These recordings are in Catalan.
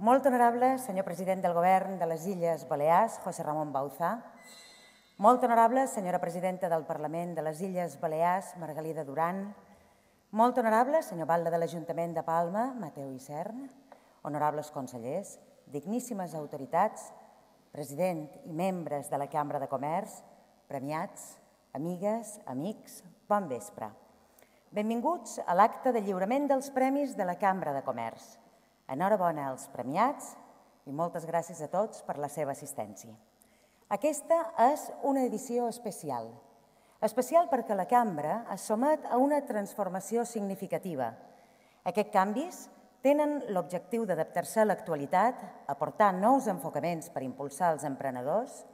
Molt honorable senyor president del Govern de les Illes Balears, José Ramon Bauzá. Molt honorable senyora presidenta del Parlament de les Illes Balears, Margalida Duran. Molt honorable senyor Batlle de l'Ajuntament de Palma, Mateu Isern. Honorables consellers, digníssimes autoritats, president i membres de la Cambra de Comerç, premiats, amigues, amics, bon vespre. Benvinguts a l'acte de lliurament dels premis de la Cambra de Comerç. Enhorabona als premiats i moltes gràcies a tots per la seva assistència. Aquesta és una edició especial. Especial perquè la Cambra es somet a una transformació significativa. Aquests canvis tenen l'objectiu d'adaptar-se a l'actualitat, aportar nous enfocaments per impulsar els emprenedors,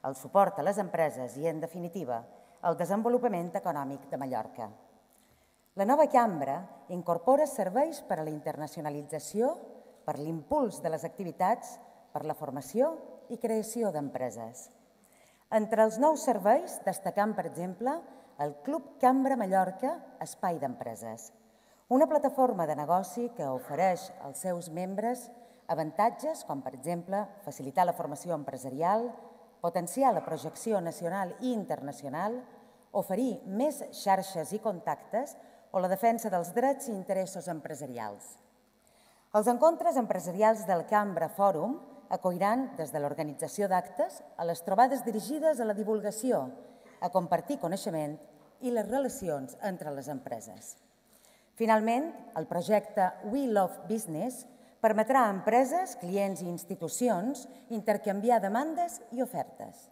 el suport a les empreses i, en definitiva, el desenvolupament econòmic de Mallorca. La nova Cambra incorpora serveis per a la internacionalització, per l'impuls de les activitats, per la formació i creació d'empreses. Entre els nous serveis destacam, per exemple, el Club Cambra Mallorca Espai d'Empreses, una plataforma de negoci que ofereix als seus membres avantatges com, per exemple, facilitar la formació empresarial, potenciar la projecció nacional i internacional, oferir més xarxes i contactes o la defensa dels drets i interessos empresarials. Els encontres empresarials del Cambra Fòrum acolliran des de l'organització d'actes a les trobades dirigides a la divulgació, a compartir coneixement i les relacions entre les empreses. Finalment, el projecte We Love Business permetrà a empreses, clients i institucions intercanviar demandes i ofertes.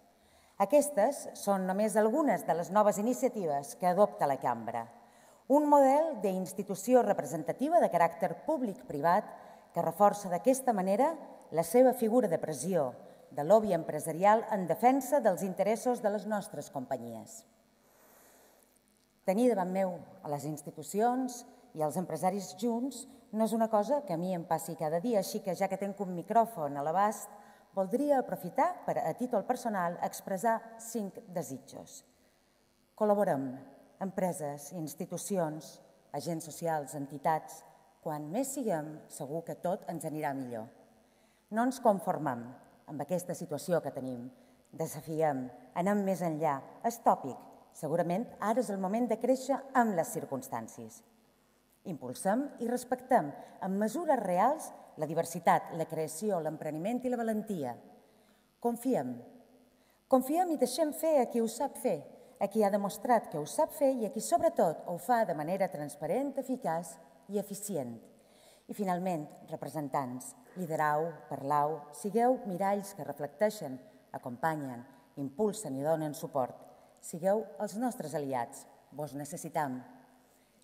Aquestes són només algunes de les noves iniciatives que adopta la Cambra. Un model d'institució representativa de caràcter públic-privat que reforça d'aquesta manera la seva figura de pressió, de lobby empresarial en defensa dels interessos de les nostres companyies. Tenir davant meu a les institucions i als empresaris junts no és una cosa que a mi em passi cada dia, així que ja que tenc un micròfon a l'abast, voldria aprofitar per, a títol personal, expressar 5 desitjos. Col·laborem, empreses, institucions, agents socials, entitats. Quan més siguem, segur que tot ens anirà millor. No ens conformem amb aquesta situació que tenim. Desafiem, anem més enllà. És tòpic. Segurament ara és el moment de créixer amb les circumstàncies. Impulsem i respectem amb mesures reals la diversitat, la creació, l'empreniment i la valentia. Confiem. Confiem i deixem fer a qui ho sap fer, a qui ha demostrat que ho sap fer i a qui, sobretot, ho fa de manera transparent, eficaç i eficient. I, finalment, representants, liderau, parlau, sigueu miralls que reflecteixen, acompanyen, impulsen i donen suport. Sigueu els nostres aliats, vos necessitam.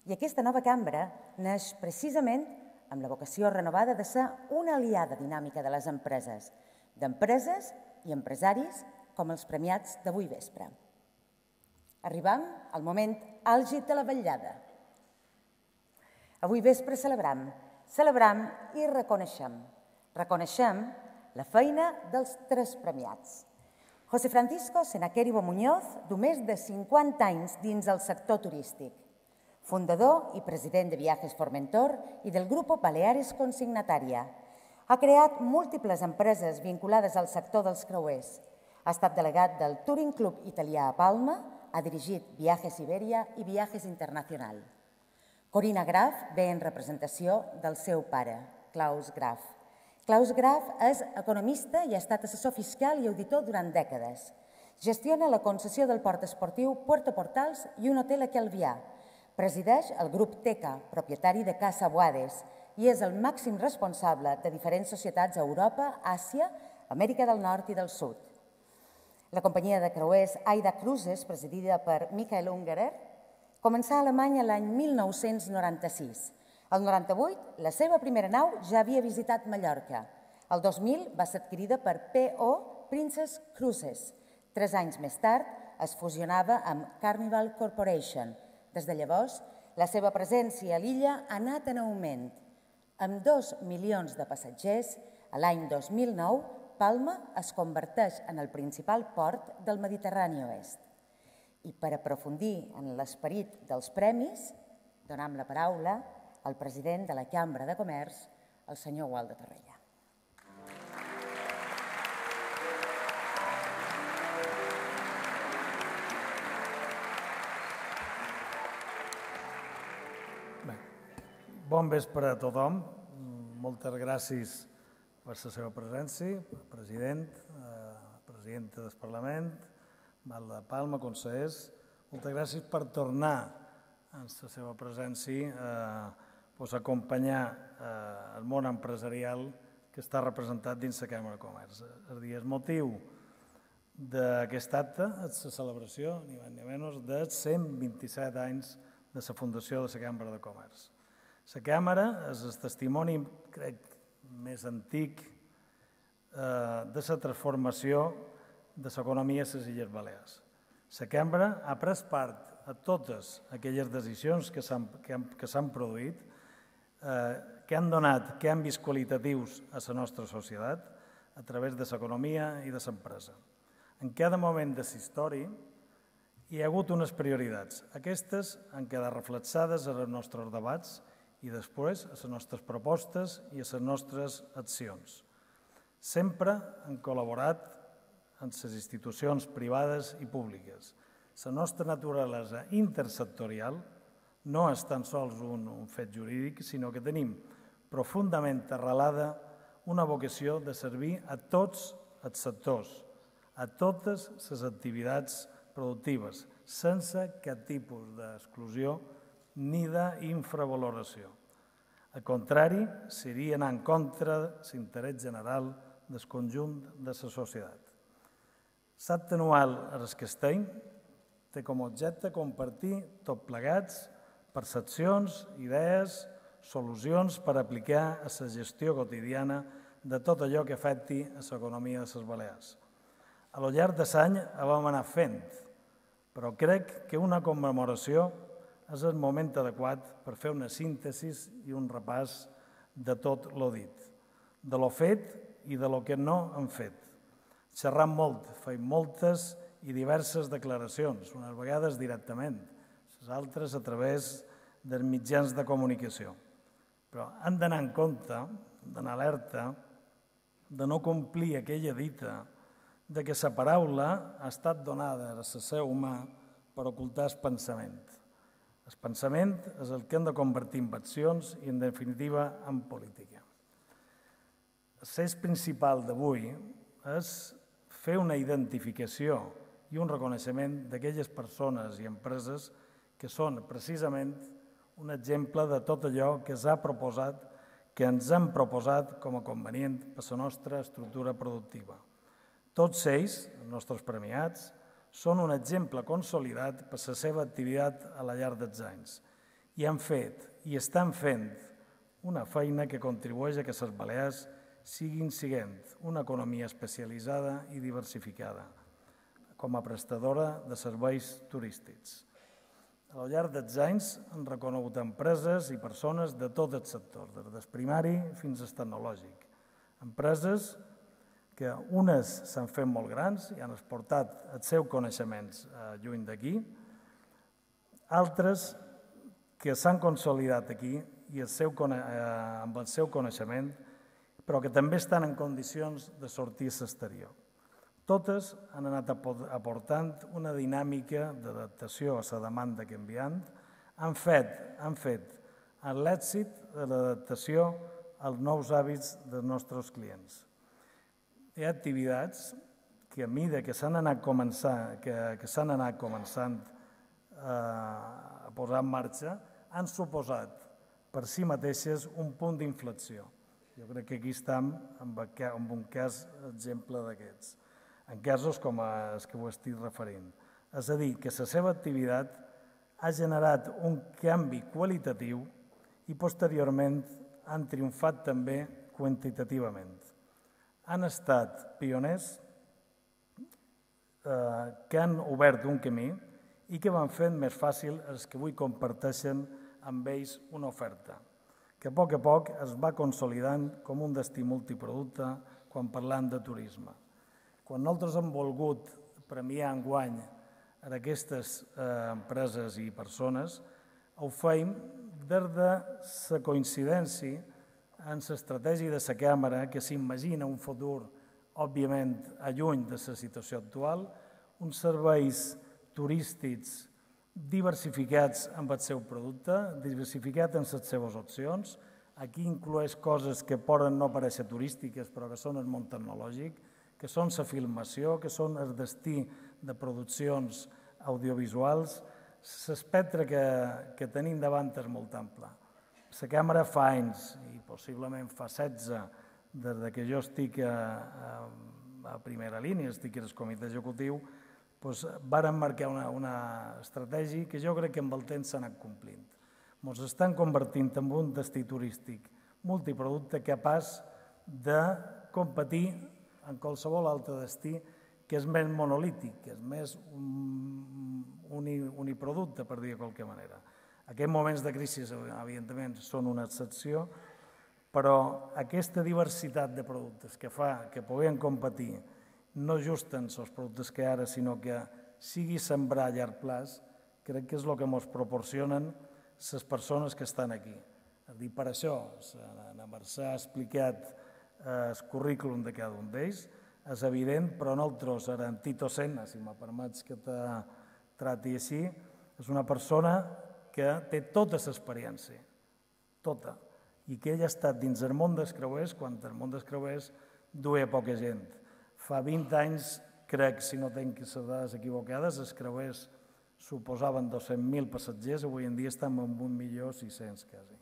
I aquesta nova cambra neix precisament amb la vocació renovada de ser una aliada dinàmica de les empreses, d'empreses i empresaris com els premiats d'avui vespre. Arribam al moment àlgid de la vetllada. Avui vespre celebram i reconeixem. Reconeixem la feina dels 3 premiats. José Francisco Senaqueribo Muñoz, de més de 50 anys dins el sector turístic, fundador i president de Viajes Formentor i del Grupo Baleares Consignataria. Ha creat múltiples empreses vinculades al sector dels creuers. Ha estat delegat del Touring Club Italià a Palma, ha dirigit Viajes Iberia i Viajes Internacional. Corina Graf ve en representació del seu pare, Klaus Graf. Klaus Graf és economista i ha estat assessor fiscal i auditor durant dècades. Gestiona la concessió del port esportiu Puerto Portals i un hotel a Calvià. Presideix el grup Teca, propietari de Casa Boades, i és el màxim responsable de diferents societats a Europa, Àsia, Amèrica del Nord i del Sud. La companyia de creuers Aida Cruises, presidida per Michael Ungerer, començà a Alemanya l'any 1996. El 98, la seva primera nau ja havia visitat Mallorca. El 2000 va ser adquirida per P.O. Princess Cruises. 3 anys més tard es fusionava amb Carnival Corporation. Des de llavors, la seva presència a l'illa ha anat en augment. Amb 2 milions de passatgers, a l'any 2009, Palma es converteix en el principal port del Mediterrani Oest. I per aprofundir en l'esperit dels premis, donam la paraula al president de la Cambra de Comerç, el senyor Waldo Torrella. Bon vespre a tothom. Moltes gràcies per la seva presència, president, presidenta del Parlament, Valda Palma, consellers. Moltes gràcies per tornar en la seva presència a acompanyar el món empresarial que està representat dins la Càmera de Comerç. El motiu d'aquest acte és la celebració, ni més ni menys, dels 127 anys de la fundació de la Càmera de Comerç. La Càmera és el testimoni, crec, més antic de la transformació de l'economia a les Illes Balears. La Càmera ha pres part a totes aquelles decisions que s'han produït, que han donat canvis qualitatius a la nostra societat a través de l'economia i de l'empresa. En cada moment de la història hi ha hagut unes prioritats. Aquestes han quedat reflexades en els nostres debats i després a les nostres propostes i a les nostres accions. Sempre han col·laborat amb les institucions privades i públiques. La nostra naturalesa intersectorial no és tan sols un fet jurídic, sinó que tenim profundament arrelada una vocació de servir a tots els sectors, a totes les activitats productives, sense cap tipus d'exclusió ni d'infravaloració. Al contrari, seria anar en contra de l'interès general del conjunt de la societat. L'acte anual a les Castell té com a objecte compartir tot plegats percepcions, idees, solucions per aplicar a la gestió quotidiana de tot allò que afecti a l'economia de les Balears. A lo llarg de l'any ho vam anar fent, però crec que una commemoració és el moment adequat per fer una síntesi i un repàs de tot lo dit, de lo fet i de lo que no hem fet. Xerrant molt, fent moltes i diverses declaracions, unes vegades directament, les altres a través dels mitjans de comunicació. Però hem d'anar en compte, d'anar alerta, de no complir aquella dita de que la paraula ha estat donada a l'ésser humà per ocultar el pensament. El pensament és el que hem de convertir en accions i, en definitiva, en política. L'eix principal d'avui és fer una identificació i un reconeixement d'aquelles persones i empreses que són precisament un exemple de tot allò que ens han proposat com a convenient per a la nostra estructura productiva. Tots ells, els nostres premiats, són un exemple consolidat per la seva activitat a la llarg dels anys i han fet i estan fent una feina que contribueix a que les Balears siguin una economia especialitzada i diversificada com a prestadora de serveis turístics. A lo llarg dels anys han reconegut empreses i persones de tot el sector, des del primari fins al tecnològic. Empreses que unes s'han fet molt grans i han exportat els seus coneixements lluny d'aquí, altres que s'han consolidat aquí i amb el seu coneixement, però que també estan en condicions de sortir a l'exterior. Totes han anat aportant una dinàmica d'adaptació a la demanda canviant, han fet l'èxit de l'adaptació als nous hàbits dels nostres clients. Hi ha activitats que a mesura que s'han anat començant a posar en marxa han suposat per si mateixes un punt d'inflexió. Jo crec que aquí estem en un cas exemple d'aquests, en casos com els que ho estic referint. És a dir, que la seva activitat ha generat un canvi qualitatiu i posteriorment han triomfat també quantitativament. Han estat pioners que han obert un camí i que van fent més fàcil els que avui comparteixen amb ells una oferta, que a poc es va consolidant com un destí multiproducte quan parlant de turisme. Quan nosaltres hem volgut premiar enguany a aquestes empreses i persones, ho feim des de la coincidència en l'estratègia de la Càmera que s'imagina un futur, òbviament, lluny de la situació actual, uns serveis turístics diversificats amb el seu producte, diversificat en les seves opcions. Aquí incloeix coses que poden no parèixer turístiques, però que són el món tecnològic, que són la filmació, que són el destí de produccions audiovisuals. L'espectre que tenim davant és molt ample. La càmera fa anys, i possiblement fa 16, des que jo estic a primera línia, estic al comitè executiu, varen marcar una estratègia que jo crec que amb el temps s'ha anat complint. Ens estan convertint en un destí turístic multiproducte capaç de competir en qualsevol altre destí que és més monolític, que és més uniproducte, per dir de qualque manera. Aquests moments de crisi, evidentment, són una excepció, però aquesta diversitat de productes que fa que puguem competir no just en els productes que ara, sinó que sigui sembrar a llarg plaç, crec que és el que ens proporcionen les persones que estan aquí. Per això, la Mercè ha explicat el currículum de cada un d'ells, és evident, però nosaltres, ara en Tito Senna, si me permets que te trati així, és una persona que té tota l'experiència, tota, i que ell ha estat dins el món dels creuers quan el món dels creuers duia poca gent. Fa 20 anys, crec, si no tinc les dades equivocades, els creuers suposaven 200.000 passatgers, avui en dia estem en 1.600.000 quasi.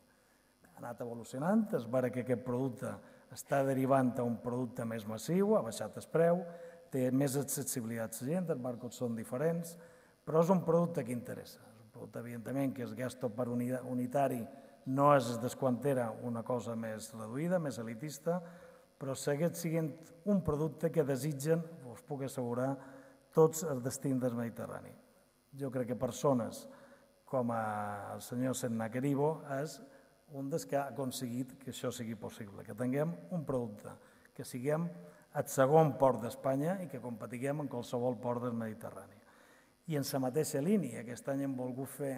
Ha anat evolucionant, es veure que aquest producte està derivant a un producte més massiu, ha baixat el preu, té més accessibilitat a la gent, els barcos són diferents, però és un producte que interessa. És un producte, evidentment, que el gasto per unitari no és des quan era una cosa més reduïda, més elitista, però segueix sent un producte que desitgen, us puc assegurar, tots els destins del Mediterrani. Jo crec que persones com el senyor Senna Queribo és un dels que ha aconseguit que això sigui possible, que tinguem un producte, que siguem el segon port d'Espanya i que competiguem en qualsevol port del Mediterrani. I en la mateixa línia, aquest any hem volgut fer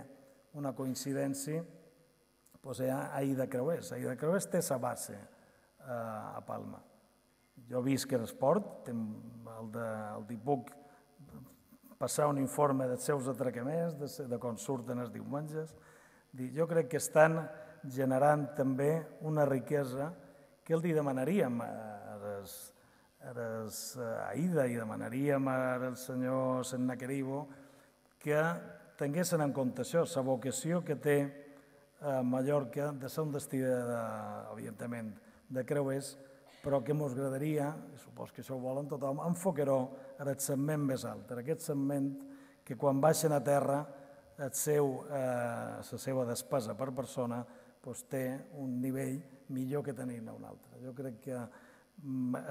una coincidència a Aida Creuers. Aida Creuers té la base a Palma. Jo visc en esport, els puc passar un informe dels seus atracaments, de com surten els diumenges. Jo crec que estan generant també una riquesa que els demanaríem a Aida i demanaríem al senyor Senna Queribo que tinguessin en compte això, la vocació que té Mallorca de ser un destí, evidentment, de creuers, però que ens agradaria, i supos que això ho volen tothom, enfocar-ho en el segment més alt, en aquest segment que quan baixen a terra la seva despesa per persona té un nivell millor que tenir-ne un altre. Jo crec que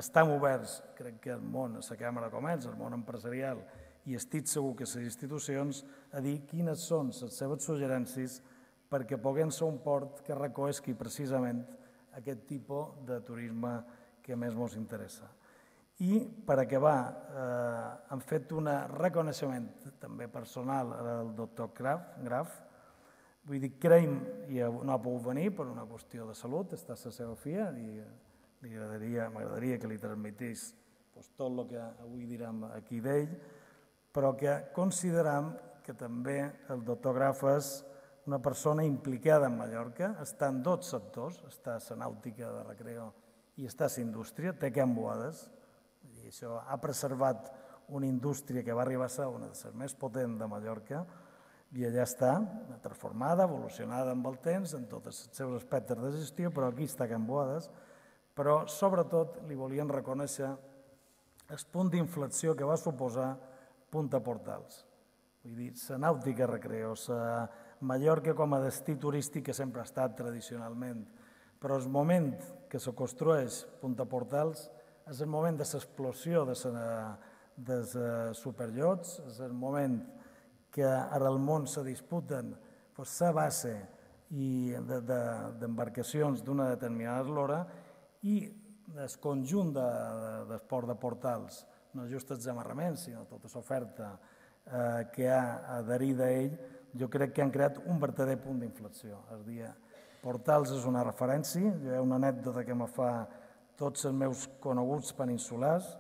estem oberts, crec que el món, la Càmera de Comerç, el món empresarial, i estic segur que les institucions, a dir quines són les seves suggerències perquè puguem ser un port que recollisqui precisament aquest tipus de turisme que més ens interessa. I per acabar, hem fet un reconeixement també personal al doctor Graf. Vull dir, creiem, i no ha pogut venir per una qüestió de salut, està a la seva filla, i m'agradaria que li transmetís tot el que avui direm aquí d'ell, però que considerem que també el doctor Graf és una persona implicada en Mallorca, està en dos sectors, està a la nàutica de recreo i està a la indústria, té Can Boades, i això ha preservat una indústria que va arribar a ser una de les més potents de Mallorca, i allà està, transformada, evolucionada amb el temps, en tots els seus aspectes de gestió, però aquí està Can Boades, però sobretot li volien reconèixer el punt d'inflexió que va suposar Punta Portals. Vull dir, la nàutica recreo, la Mallorca com a destí turístic que sempre ha estat tradicionalment, però el moment que se construeix Punta Portals és el moment de l'explosió dels superiots, és el moment que ara al món se disputen la base d'embarcacions d'una determinada eslora i el conjunt del port de Portals, no just els amarraments, sinó tota l'oferta que ha adherit a ell, jo crec que han creat un verdader punt d'inflexió. És a dir, Portals és una referència, hi ha una anècdota que me fa tots els meus coneguts peninsulars,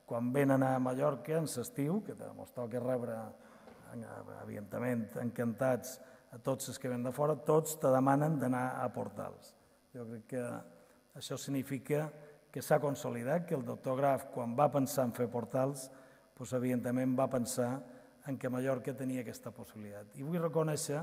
quan venen a Mallorca en l'estiu, que ens toca rebre evidentment, encantats a tots els que ven de fora, tots te demanen d'anar a Portals. Jo crec que això significa que s'ha consolidat, que el doctor Graf, quan va pensar en fer Portals, evidentment va pensar en què Mallorca tenia aquesta possibilitat. I vull reconèixer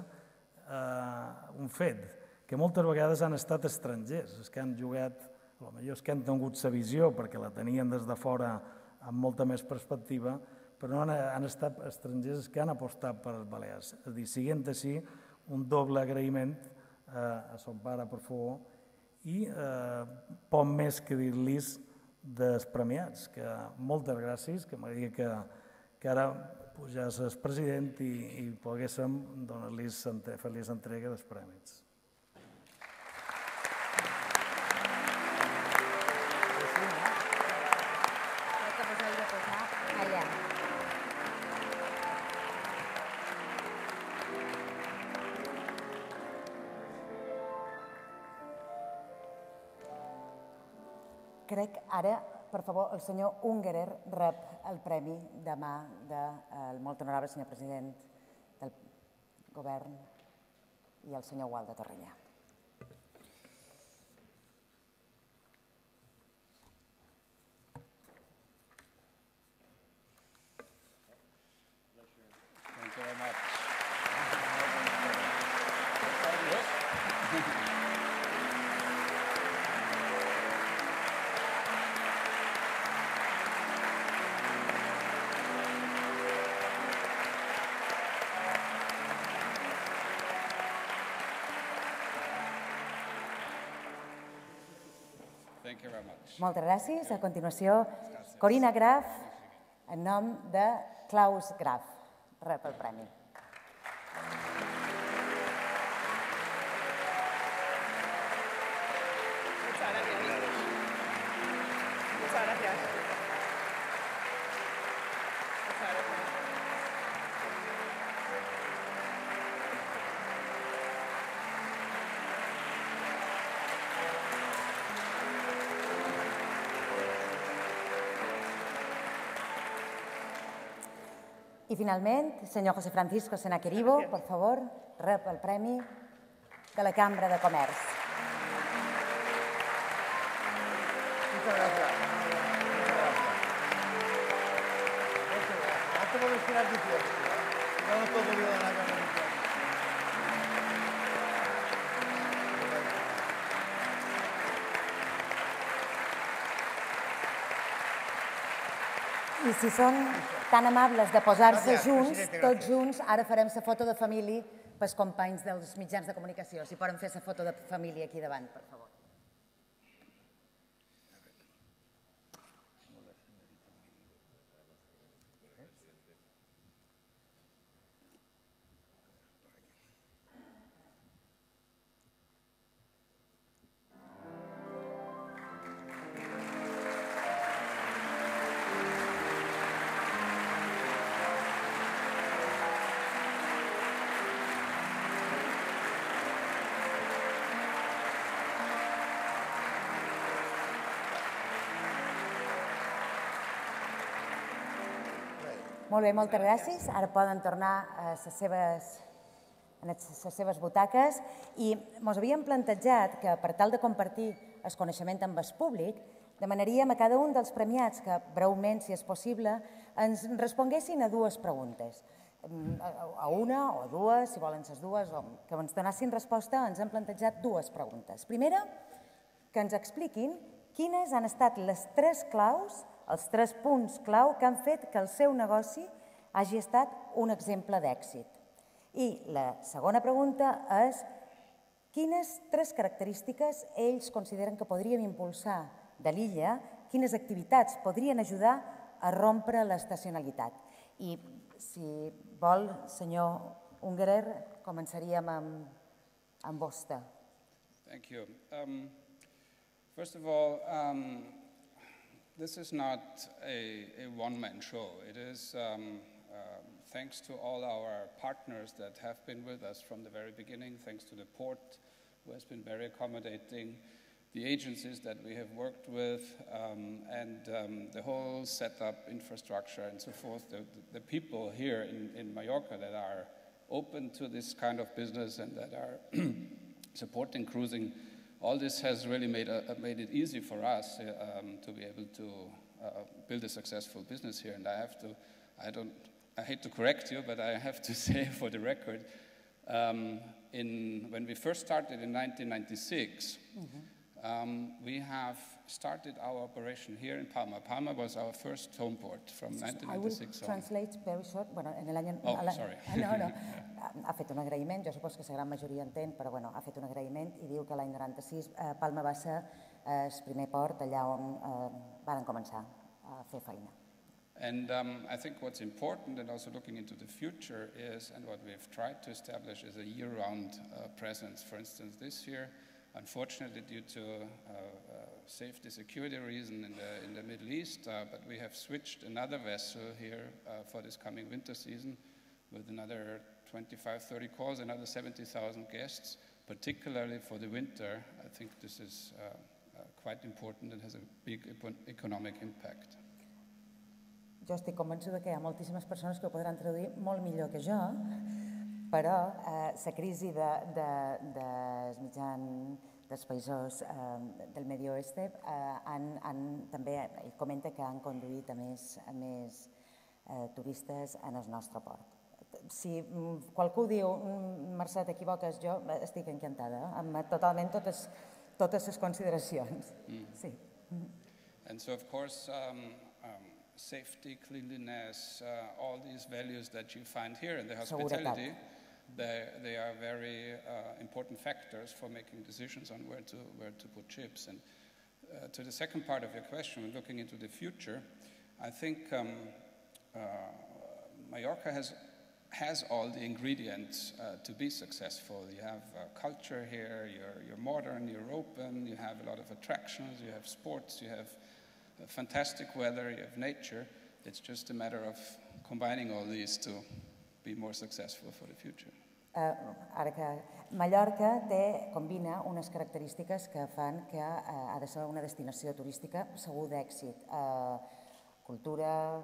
un fet, que moltes vegades han estat estrangers, els que han jugat, potser els que han tingut la visió perquè la tenien des de fora amb molta més perspectiva, però no han estat estrangers que han apostat per les Balears. És a dir, siguent així, un doble agraïment a son pare, per favor, i poc més que dir-los dels premiats, que moltes gràcies, que m'agradaria que ara pujés el president i poguéssim fer-los entrega dels premis. Crec ara, per favor, el senyor Ungerer rep el premi demà del molt honorable senyor president del govern i el senyor Gual de Torrella. Thank you very much. Thank you very much. Moltes gràcies. A continuació, Corina Graf, en nom de Klaus Graf, rep el premi. I finalment, senyor José Francisco Senaquerivo, per favor, rep el premi de la Cambra de Comerç. Muchas gracias. No te puedo esperar tu tiempo. No nos puedo olvidar de la Cámara de Comercio. I si són tan amables de posar-se junts, tots junts, ara farem la foto de família pels companys dels mitjans de comunicació. Si poden fer la foto de família aquí davant, per favor. Molt bé, moltes gràcies. Ara poden tornar a les seves butaques i ens havíem plantejat que, per tal de compartir el coneixement amb el públic, demanaríem a cada un dels premiats que, breument, si és possible, ens responguessin a dues preguntes. A una o a dues, si volen les dues, o que ens donessin resposta, ens hem plantejat dues preguntes. Primera, que ens expliquin quines han estat les tres claus, els tres punts clau que han fet que el seu negoci hagi estat un exemple d'èxit. I la segona pregunta és quines tres característiques ells consideren que podríem impulsar de l'illa, quines activitats podrien ajudar a rompre l'estacionalitat. I si vol, senyor Ungerer, començaríem amb vostè. Thank you. First of all, this is not a one-man show. It is thanks to all our partners that have been with us from the very beginning, thanks to the port, who has been very accommodating, the agencies that we have worked with, and the whole setup, infrastructure, and so forth, the people here in Mallorca that are open to this kind of business and that are supporting cruising, all this has really made it easy for us to be able to build a successful business here. And I hate to correct you, but I have to say for the record, when we first started in 1996, we have started our operation here in Palma. Palma was our first home port from 1996 I will translate very short. Bueno, en el año, sorry. No. Ha fet un agraïment, jo supos que la gran majoria entén, però bueno, ha fet un agraïment i diu que l'any 96 Palma va ser el primer port allà on van començar a fer feina. And I think what's important, and also looking into the future, is, and what we've tried to establish, is a year-round presence. For instance, this year, unfortunately, due to safety security reason in the Middle East, but we have switched another vessel here for this coming winter season with another 25, 30 calls, another 70,000 guests, particularly for the winter. I think this is quite important and has a big economic impact. Jo estic convençuda que hi ha moltíssimes persones que ho podran traduir molt millor que jo, però la crisi dels països del Medi Oeste també comenta que han conduït a més turistes en el nostre port. Si qualcú diu, Mercè, t'equivoques, jo estic encantada, amb totalment totes les consideracions. Sí. And so, of course, safety, cleanliness, all these values that you find here in the hospitality, they are very important factors for making decisions on where to put ships. And to the second part of your question, looking into the future, I think Mallorca has all the ingredients to be successful. You have culture here, you're modern, you're open, you have a lot of attractions, you have sports, you have fantastic weather, you have nature. It's just a matter of combining all these to be more successful for the future. Ara que Mallorca combina unes característiques que fan que ha de ser una destinació turística segur d'èxit. Cultura,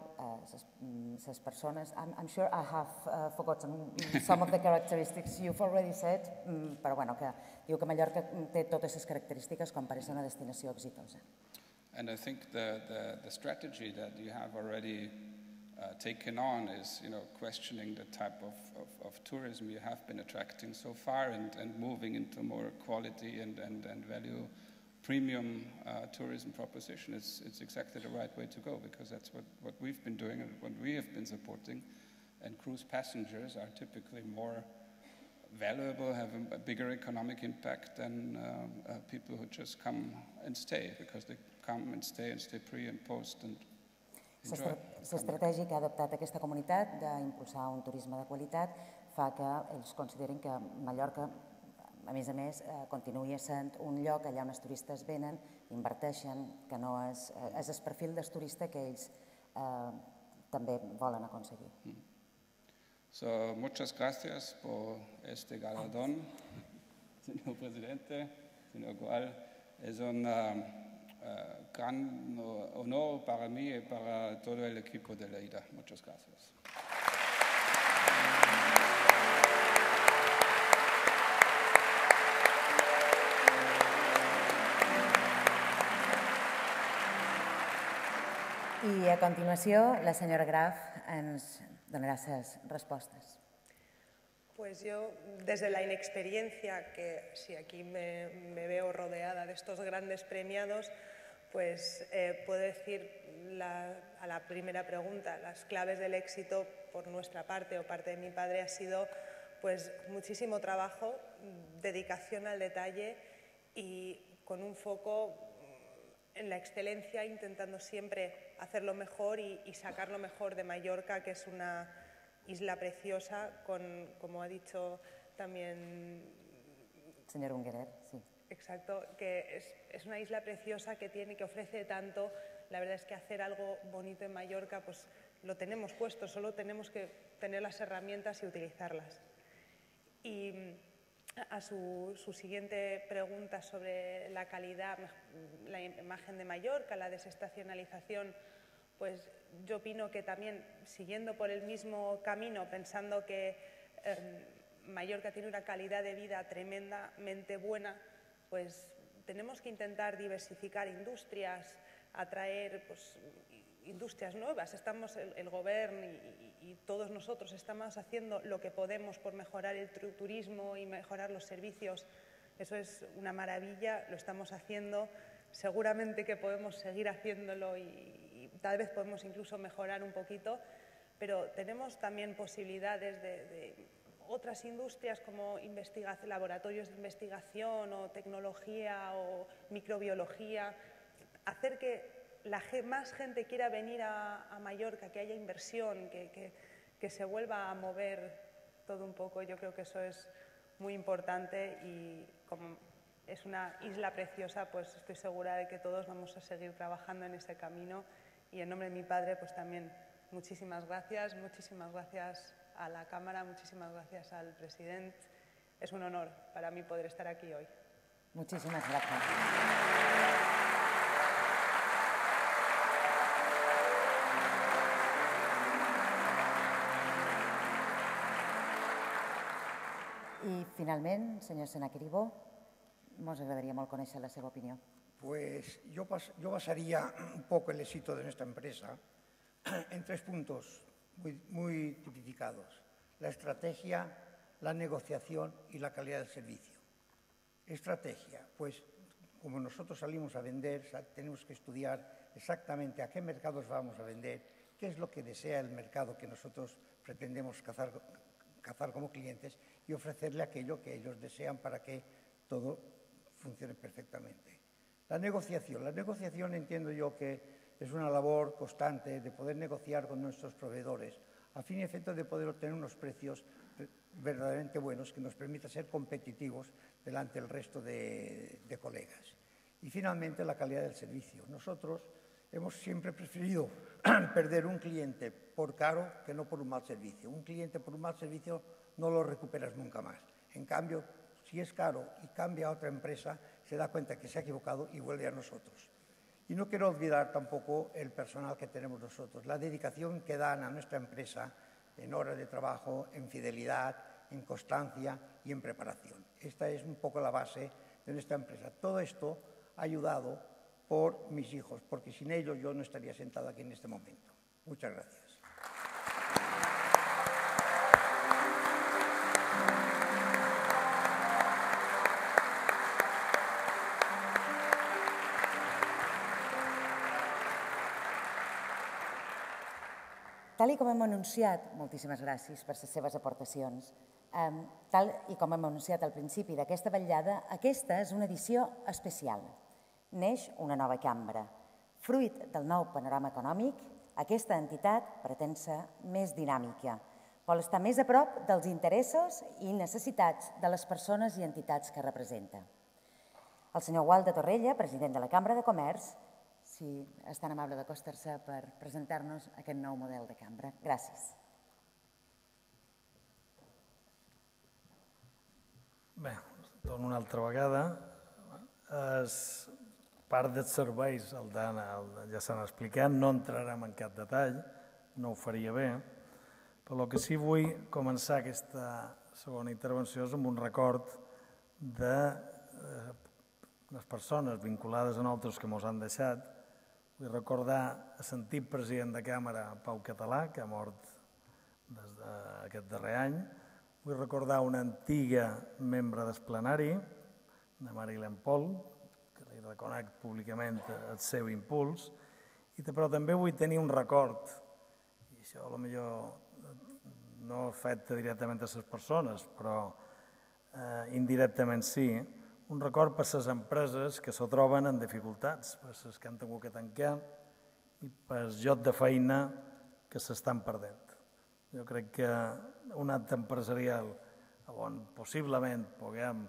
les persones. I'm sure I have forgotten some of the characteristics you've already said, però bueno, que diu que Mallorca té totes les característiques com per ser una destinació exitosa. And I think the strategy that you have already taken on is, questioning the type of tourism you have been attracting so far and moving into more quality and value premium tourism proposition. It's exactly the right way to go, because that's what we've been doing and what we have been supporting. And cruise passengers are typically more valuable, have a bigger economic impact than people who just come and stay, because they come and stay pre and post and enjoy. L'estratègia que ha adoptat aquesta comunitat d'impulsar un turisme de qualitat fa que ells considerin que Mallorca, a més, continuï sent un lloc allà on els turistes venen, inverteixen, que no és el perfil del turista que ells també volen aconseguir. So, muchas gracias por este galardón, señor presidente, señor Gual. Es un gran honor para mí y para todo el equipo de la IDA. Muchas gracias. I a continuació, la senyora Graf ens donará esas respuestas. Pues yo, desde la inexperiencia, que si aquí me veo rodeada de estos grandes premiados, pues puedo decir a la primera pregunta, las claves del éxito por nuestra parte o parte de mi padre ha sido pues muchísimo trabajo, dedicación al detalle y con un foco en la excelencia, intentando siempre hacerlo mejor y sacar lo mejor de Mallorca, que es una isla preciosa, como ha dicho también... Señor Ungerer, sí. Exacto, que es una isla preciosa que ofrece tanto. La verdad es que hacer algo bonito en Mallorca, pues lo tenemos puesto, solo tenemos que tener las herramientas y utilizarlas. Y a su siguiente pregunta sobre la calidad, la imagen de Mallorca, la desestacionalización, pues yo opino que también, siguiendo por el mismo camino, pensando que Mallorca tiene una calidad de vida tremendamente buena, pues tenemos que intentar diversificar industrias, atraer industrias nuevas. Estamos, el Gobierno y todos nosotros estamos haciendo lo que podemos por mejorar el turismo y mejorar los servicios. Eso es una maravilla, lo estamos haciendo. Seguramente que podemos seguir haciéndolo y tal vez podemos incluso mejorar un poquito, pero tenemos también posibilidades de otras industrias como laboratorios de investigación o tecnología o microbiología, hacer que más gente quiera venir a Mallorca, que haya inversión, que se vuelva a mover todo un poco. Yo creo que eso es muy importante y como es una isla preciosa, pues estoy segura de que todos vamos a seguir trabajando en ese camino y en nombre de mi padre pues también muchísimas gracias a la Cámara, muchísimas gracias al presidente. Es un honor para mí poder estar aquí hoy. Muchísimas gracias. I, finalment, senyor Senac Ribó, ens agradaria molt conèixer la seva opinió. Pues yo basaría un poco el éxito de nuestra empresa en 3 puntos muy tipificados: la estrategia, la negociación y la calidad del servicio. Estrategia, pues como nosotros salimos a vender, tenemos que estudiar exactamente a qué mercados vamos a vender, qué es lo que desea el mercado que nosotros pretendemos cazar como clientes y ofrecerle aquello que ellos desean para que todo funcione perfectamente. La negociación entiendo yo que es una labor constante de poder negociar con nuestros proveedores a fin y efecto de poder obtener unos precios verdaderamente buenos que nos permitan ser competitivos delante del resto de colegas. Y finalmente la calidad del servicio. Nosotros hemos siempre preferido perder un cliente por caro que no por un mal servicio. Un cliente por un mal servicio no lo recuperas nunca más. En cambio, si es caro y cambia a otra empresa, se da cuenta que se ha equivocado y vuelve a nosotros. Y no quiero olvidar tampoco el personal que tenemos nosotros, la dedicación que dan a nuestra empresa en horas de trabajo, en fidelidad, en constancia y en preparación. Esta es un poco la base de nuestra empresa. Todo esto ha ayudado por mis hijos, porque sin ellos yo no estaría sentado aquí en este momento. Muchas gracias. Tal com hem anunciat, moltíssimes gràcies per les seves aportacions, tal com hem anunciat al principi d'aquesta vetllada, aquesta és una edició especial. Neix una nova cambra. Fruit del nou panorama econòmic, aquesta entitat pretén ser més dinàmica, vol estar més a prop dels interessos i necessitats de les persones i entitats que representa. El senyor Gual de Torrella, president de la Cambra de Comerç, si és tan amable d'acostar-se per presentar-nos aquest nou model de cambra. Gràcies. Bé, torno una altra vegada. Part dels serveis, ja s'han explicat, no entrarem en cap detall, no ho faria bé, però el que sí vull començar aquesta segona intervenció és amb un record de les persones vinculades a nosaltres que ens han deixat. Vull recordar l'antic president de Càmera, Pau Català, que ha mort aquest darrer any. Vull recordar una antiga membre del plenari, la Marilyn Pol, que li reconec públicament el seu impuls, però també vull tenir un record, i això potser no afecta directament a les persones, però indirectament sí, un record per les empreses que se troben en dificultats, per les que han hagut que tancar i per el lloc de feina que s'estan perdent. Jo crec que un acte empresarial on possiblement puguem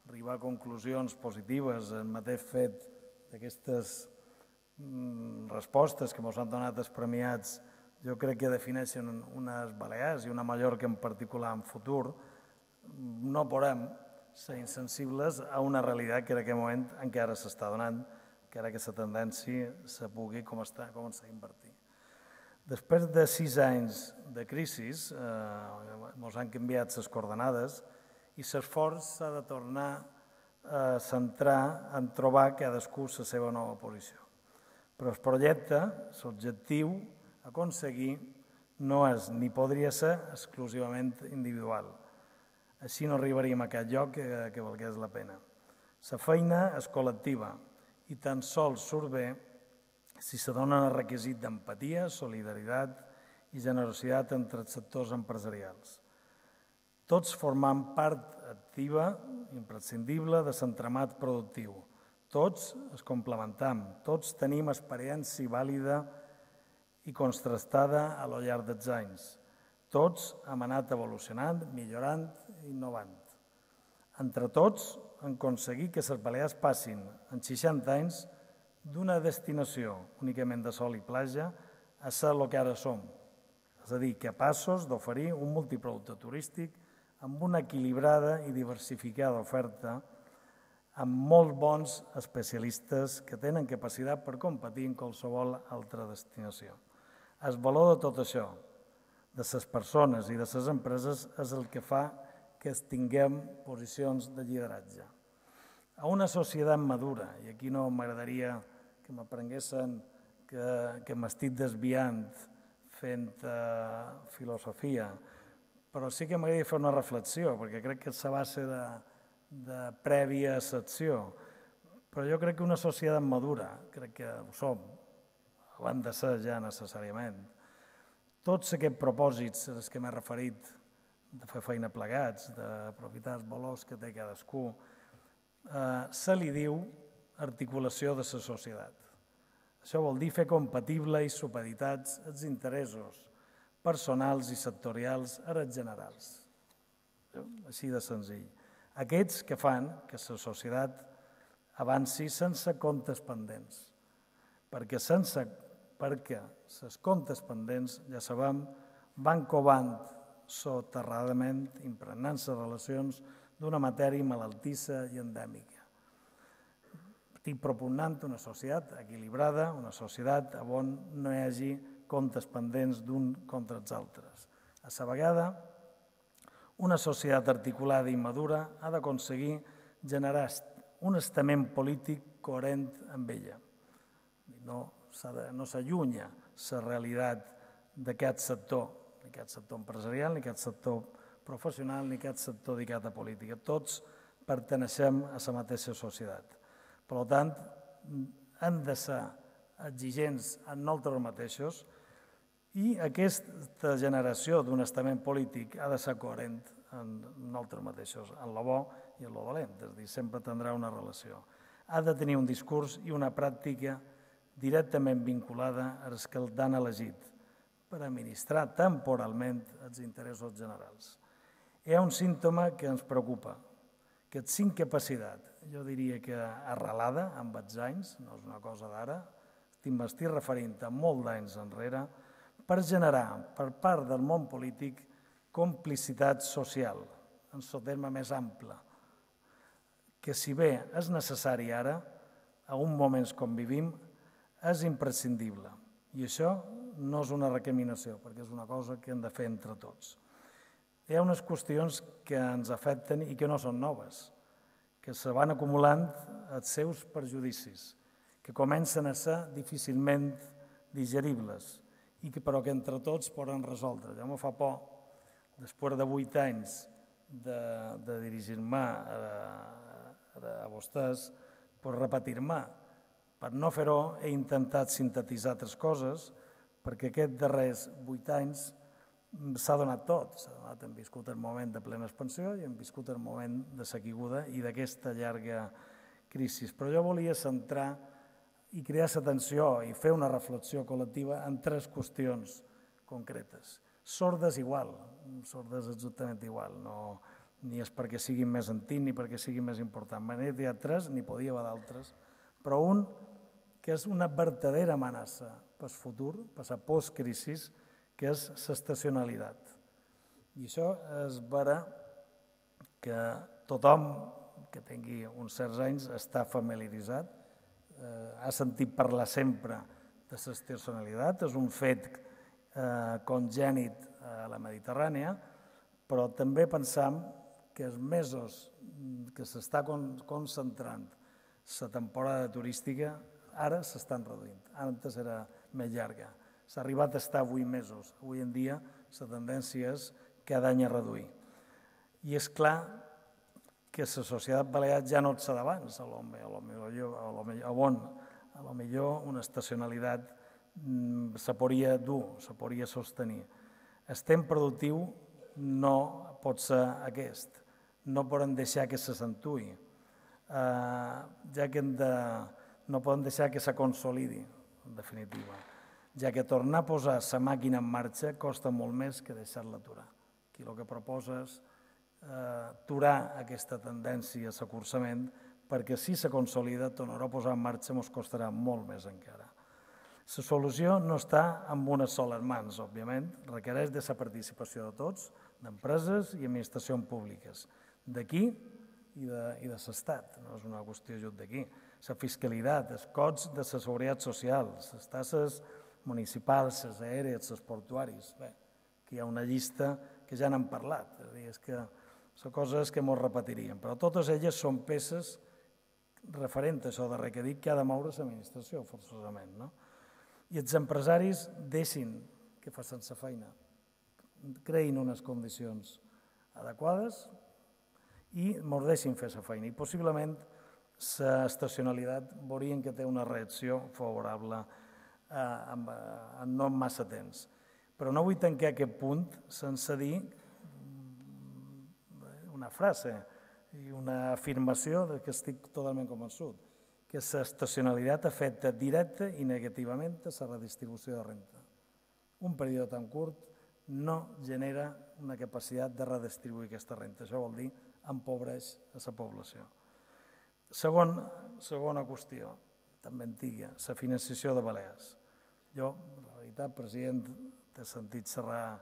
arribar a conclusions positives en mateix fet d'aquestes respostes que ens han donat els premiats, jo crec que defineixen unes Balears i una Mallorca en particular en futur. No podem ser insensibles a una realitat que en aquest moment encara s'està donant, que ara aquesta tendència se pugui començar a invertir. Després de 6 anys de crisi, ens han canviat les coordenades i l'esforç s'ha de tornar a centrar en trobar cadascú la seva nova posició. Però el projecte, l'objectiu a aconseguir, no és ni podria ser exclusivament individual. Així no arribaríem a cap lloc que valgués la pena. La feina és col·lectiva i tan sols surt bé si se dona el requisit d'empatia, solidaritat i generositat entre els sectors empresarials. Tots formam part activa, imprescindible, de l'entramat productiu. Tots es complementam, tots tenim experiència vàlida i contrastada a lo llarg dels anys. Tots hem anat evolucionant, millorant i innovant. Entre tots hem aconseguit que les Balears passin en 60 anys d'una destinació únicament de sol i platja a ser el que ara som. És a dir, capaços d'oferir un multiproducte turístic amb una equilibrada i diversificada oferta amb molt bons especialistes que tenen capacitat per competir en qualsevol altra destinació. El valor de tot això, de les persones i de les empreses, és el que fa que tinguem posicions de lideratge. A una societat madura, i aquí no m'agradaria que m'aprenguessin que m'estic desviant fent filosofia, però sí que m'agradaria fer una reflexió, perquè crec que és la base de prèvia secció. Però jo crec que una societat madura, crec que ho som, ho han de ser ja necessàriament. Tots aquests propòsits als que m'he referit, de fer feina plegats, d'aprofitar els valors que té cadascú, se li diu articulació de la societat. Això vol dir fer compatible i supeditats els interessos personals i sectorials a els generals. Així de senzill. Aquests que fan que la societat avanci sense comptes pendents. Perquè els comptes pendents, ja sabem, van covant soterradament, impregnant les relacions d'una matèria malaltissa i endèmica. Estic propugnant una societat equilibrada, una societat on no hi hagi comptes pendents d'un contra els altres. A la vegada, una societat articulada i madura ha d'aconseguir generar un estament polític coherent amb ella. No s'allunya la realitat d'aquest sector empresarial, ni aquest sector professional, ni aquest sector dedicat a política. Tots perteneixem a la mateixa societat. Per tant, hem de ser exigents en nosaltres mateixos i aquesta generació d'un estament polític ha de ser coherent en nosaltres mateixos, en lo bo i en lo dolent, és a dir, sempre tindrà una relació. Ha de tenir un discurs i una pràctica directament vinculada als que l'han elegit per administrar temporalment els interessos generals. Hi ha un símptoma que ens preocupa, que és incapacitat, jo diria que arrelada amb els anys, no és una cosa d'ara, m'estic referint a molt d'anys enrere, per generar per part del món polític complicitat social, en el terme més ample, que si bé és necessari ara, a uns moments com vivim, és imprescindible. I això no és una recriminació, perquè és una cosa que hem de fer entre tots. Hi ha unes qüestions que ens afecten i que no són noves, que se van acumulant els seus perjudicis, que comencen a ser difícilment digeribles, però que entre tots poden resoldre. Ja m'ho fa por, després de 8 anys de dirigir-me a vostès, per repetir-me. Per no fer-ho, he intentat sintetitzar altres coses, perquè aquests darrers 8 anys s'ha donat tot. Hem viscut el moment de plena expansió i hem viscut el moment de la caiguda i d'aquesta llarga crisi. Però jo volia centrar i crear l'atenció i fer una reflexió col·lectiva en 3 qüestions concretes. Sordes igual, sordes exactament igual, ni és perquè siguin més antics ni perquè siguin més importants. N'hi ha 3, n'hi podia haver d'altres, però un que és una verdadera amenaça pel futur, per la postcrisi, que és l'estacionalitat. I això és vera que tothom que tingui uns certs anys està familiaritzat, ha sentit parlar sempre de l'estacionalitat, és un fet congènit a la Mediterrània, però també pensam que els mesos que s'està concentrant la temporada turística ara s'estan reduint. Antes era més llarga. S'ha arribat a estar 8 mesos. Avui en dia la tendència és cada any a reduir. I és clar que la societat balear ja no és d'abans, a lo millor una estacionalitat se podria dur, se podria sostenir. El temps productiu no pot ser aquest, no podem deixar que s'accentuï, ja que no podem deixar que se consolidi, en definitiva, ja que tornar a posar la màquina en marxa costa molt més que deixar-la aturar. Aquí el que proposa és aturar aquesta tendència a s'acursament, perquè si se consolida, tornar a posar en marxa ens costarà molt més encara. La solució no està en unes soles mans, òbviament, requereix de la participació de tots, d'empreses i administracions públiques, d'aquí i de l'Estat, no és una qüestió just d'aquí. La fiscalitat, els costs de la seguretat social, les tasses municipals, les aèries, els portuaris. Bé, aquí hi ha una llista que ja n'hem parlat, és que són coses que ens repetiríem, però totes elles són peces referents a això darrer que dic que ha de moure l'administració, forçosament. I els empresaris deixin que facin la feina, creïn unes condicions adequades i ens deixin fer la feina. I possiblement l'estacionalitat veurien que té una reacció favorable en no massa temps. Però no vull tancar aquest punt sense dir una frase i una afirmació que estic totalment convençut, que l'estacionalitat afecta directa i negativament a la redistribució de renta. Un període tan curt no genera una capacitat de redistribuir aquesta renta. Això vol dir empobreix a la població. Segona qüestió, també antiga, la financiació de Balears. Jo, la veritat, president, t'he sentit xerrar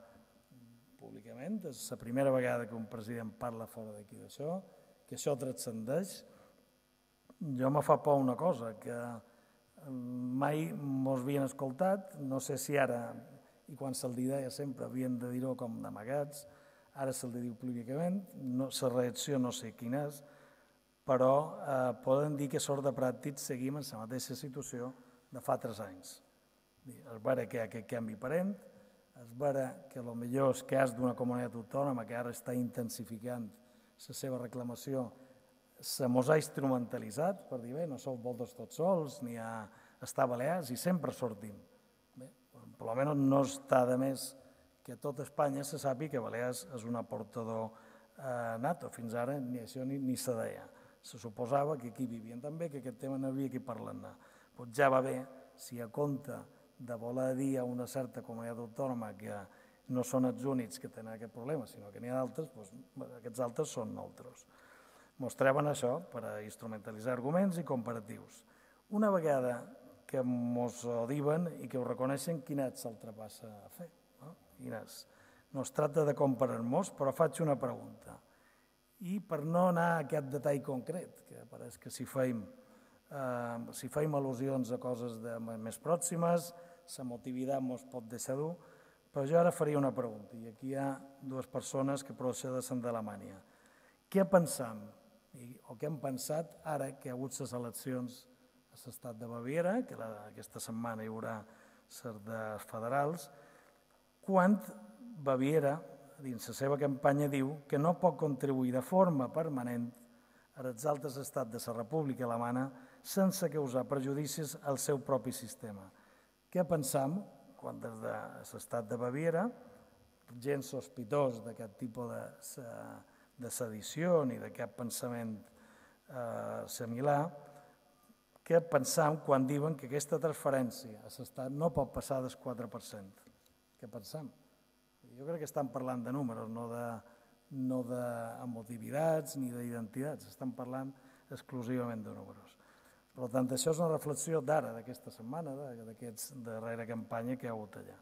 públicament, és la primera vegada que un president parla fora d'aquí d'això, que això transcendeix. Jo me fa por una cosa, que mai mos havien escoltat, no sé si ara, i quan se'l deia sempre havien de dir-ho com d'amagats, ara se'l diu públicament, la reacció no sé quina és, però poden dir que sort de pràctic seguim en la mateixa situació de fa 3 anys. És vera que hi ha aquest canvi aparent, és vera que potser el cas d'una comunitat autònoma que ara està intensificant la seva reclamació se mos ha instrumentalitzat per dir, bé, no sou vosaltres tots sols, ni a estar a Balears i sempre sortim. Bé, per almenys no està de més que a tot Espanya se sàpiga que Balears és un aportador nato. Fins ara ni això ni se deia. Se suposava que aquí vivien també, que aquest tema no havia qui parlar-ne. Doncs ja va bé, si a compte de voler dir a una certa comunitat autònoma que no són els únics que tenen aquest problema, sinó que n'hi ha d'altres, doncs aquests altres són nosaltres. Mostraven això per a instrumentalitzar arguments i comparatius. Una vegada que ens ho diuen i que ho reconeixen, quina és l'altra passa a fer? No es tracta de comparar-nos, però faig una pregunta. I per no anar a aquest detall concret, que pareix que si fem al·lusions a coses més pròximes, la motivitat ens pot deixar dur, però jo ara faria una pregunta, i aquí hi ha 2 persones que procedeixen d'Alemanya. Què pensam, o què hem pensat ara que hi ha hagut les eleccions a l'estat de Baviera, que aquesta setmana hi haurà les federals, quan Baviera, dins la seva campanya, diu que no pot contribuir de forma permanent als altres estats de la República Alemanya sense causar prejudicis al seu propi sistema. Què pensam quan des de l'estat de Baviera, gent sospitós d'aquest tipus de sedició ni de cap pensament similar, què pensam quan diuen que aquesta transferència a l'estat no pot passar del 4%? Què pensam? Jo crec que estan parlant de números, no d'emotivitats ni d'identitats, estan parlant exclusivament de números. Per tant, això és una reflexió d'ara, d'aquesta setmana, d'aquesta darrera campanya que hi ha hagut allà.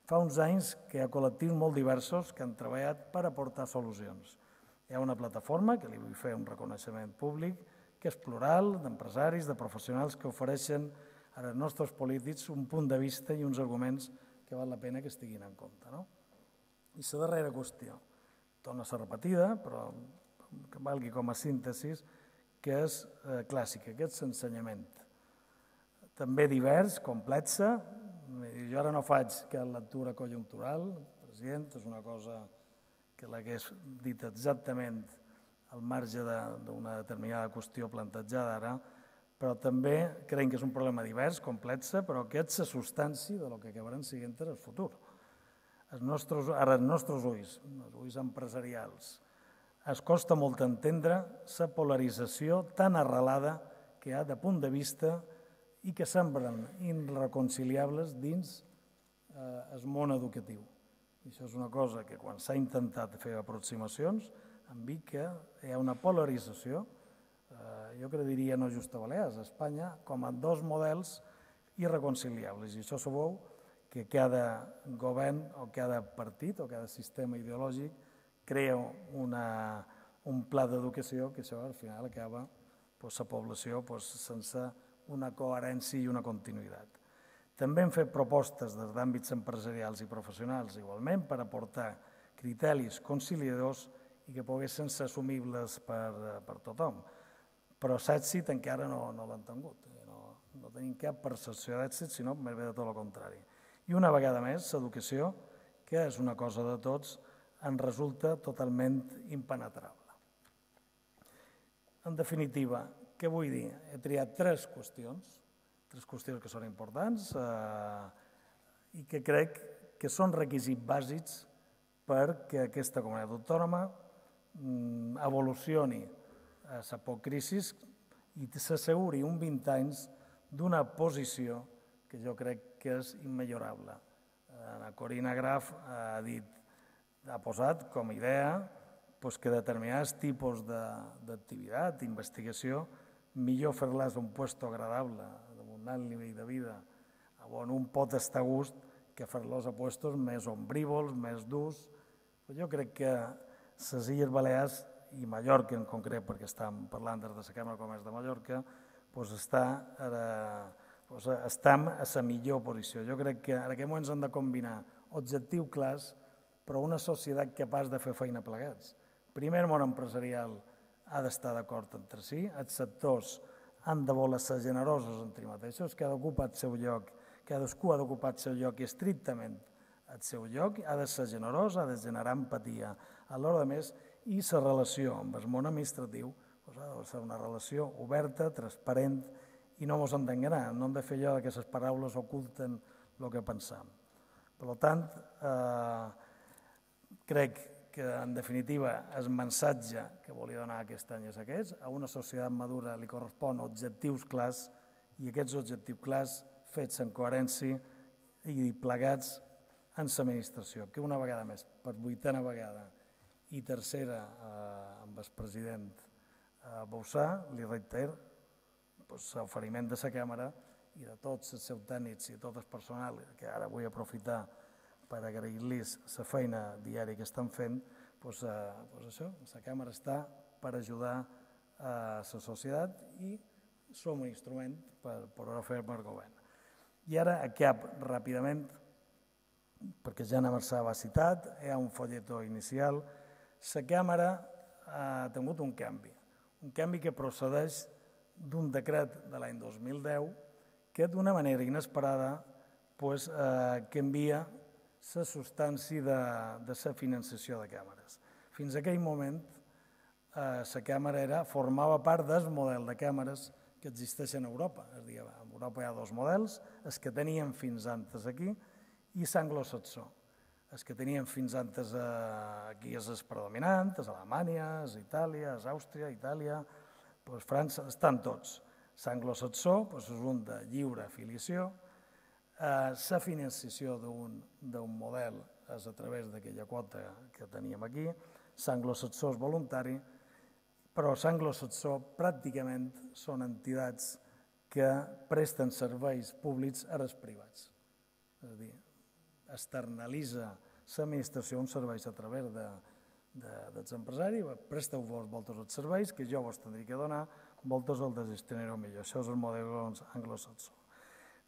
Fa uns anys que hi ha col·lectius molt diversos que han treballat per aportar solucions. Hi ha una plataforma, que li vull fer un reconeixement públic, que és plural, d'empresaris, de professionals que ofereixen als nostres polítics un punt de vista i uns arguments que val la pena que es tinguin en compte. I la darrera qüestió, torna a ser repetida, però que valgui com a síntesi, que és clàssica, que és l'ensenyament. També divers, complexa. Jo ara no faig cap lectura conjuntural, president, és una cosa que l'hagués dit exactament al marge d'una determinada qüestió plantejada ara, però també creiem que és un problema divers, complex, però que és la substància del que acabaran sent en el futur. Ara, els nostres ulls, els ulls empresarials, es costa molt entendre la polarització tan arrelada que hi ha de punt de vista i que semblen irreconciliables dins el món educatiu. I això és una cosa que quan s'ha intentat fer aproximacions hem vist que hi ha una polarització, jo crec que diria no just a Balears, a Espanya, com a dos models irreconciliables. I això sabeu que cada govern o cada partit o cada sistema ideològic crea un pla d'educació que això al final acaba la població sense una coherència i una continuïtat. També hem fet propostes des d'àmbits empresarials i professionals igualment per aportar criteris conciliadors i que poguessin ser assumibles per tothom. Però l'èxit encara no l'han tingut. No tenim cap percepció d'èxit, sinó més bé de tot el contrari. I una vegada més, l'educació, que és una cosa de tots, ens resulta totalment impenetrable. En definitiva, què vull dir? He triat tres qüestions que són importants i que crec que són requisits bàsics perquè aquesta comunitat autònoma evolucioni a la postcrisi i s'asseguri 20 anys d'una posició que jo crec que és immillorable. La Corina Graf ha posat com a idea que determinats tipus d'activitat, d'investigació, millor fer-les un lloc agradable, amb un alt nivell de vida, on un pot estar a gust, que fer-los a llocs més ombrívols, més durs. Jo crec que les Illes Balears, i Mallorca en concret, perquè estem parlant des de la Cambra de Comerç de Mallorca, estem a la millor posició. Jo crec que en aquest moment hem de combinar objectius clars, però una societat capaç de fer feina plegats. Primer, el món empresarial ha d'estar d'acord entre si, els sectors han de voler ser generosos entre mateixos, cadascú ha d'ocupar el seu lloc estrictament el seu lloc, ha de ser generós, ha de generar empatia a l'hora de més, i la relació amb el món administratiu ha de ser una relació oberta, transparent, i no ens hem d'enganyar, no hem de fer allò que les paraules oculten el que pensam. Per tant, crec que, en definitiva, el missatge que volia donar aquest any és aquest. A una societat madura li correspon objectius clars i aquests objectius clars fets en coherència i plegats en l'administració, que una vegada més, per 8a vegada i tercera amb el president Bauzá, li reitero l'oferiment de la Càmera i de tots els seus tècnics i tot el personal, que ara vull aprofitar per agrair-los la feina diària que estan fent, això, la Càmera està per ajudar a la societat i som un instrument per poder fer el govern. I ara acabo ràpidament, perquè ja n'ha va citat, hi ha un folletó inicial. La Càmera ha tingut un canvi que procedeix d'un decret de l'any 2010 que d'una manera inesperada canvia la substància de la finançació de càmeres. Fins a aquell moment, la Càmera formava part del model de càmeres que existeixen a Europa. És a dir, a Europa hi ha dos models, els que teníem fins antes aquí i l'anglosaxó. Els que teníem fins antes aquí és el predominant, és Alemanya, és Itàlia, és Àustria, Itàlia, França, estan tots. L'anglosaxó és un de lliure afiliació, la finançació d'un model és a través d'aquella quota que teníem aquí, l'anglosaxó és voluntari, però l'anglosaxó pràcticament són entitats que presten serveis públics als privats. És a dir, externalitza l'administració uns serveis a través dels empresaris, presteu vos voltes els serveis que jo vos tindria que donar, voltes el gestionareu millor. Això és el model anglosaxó.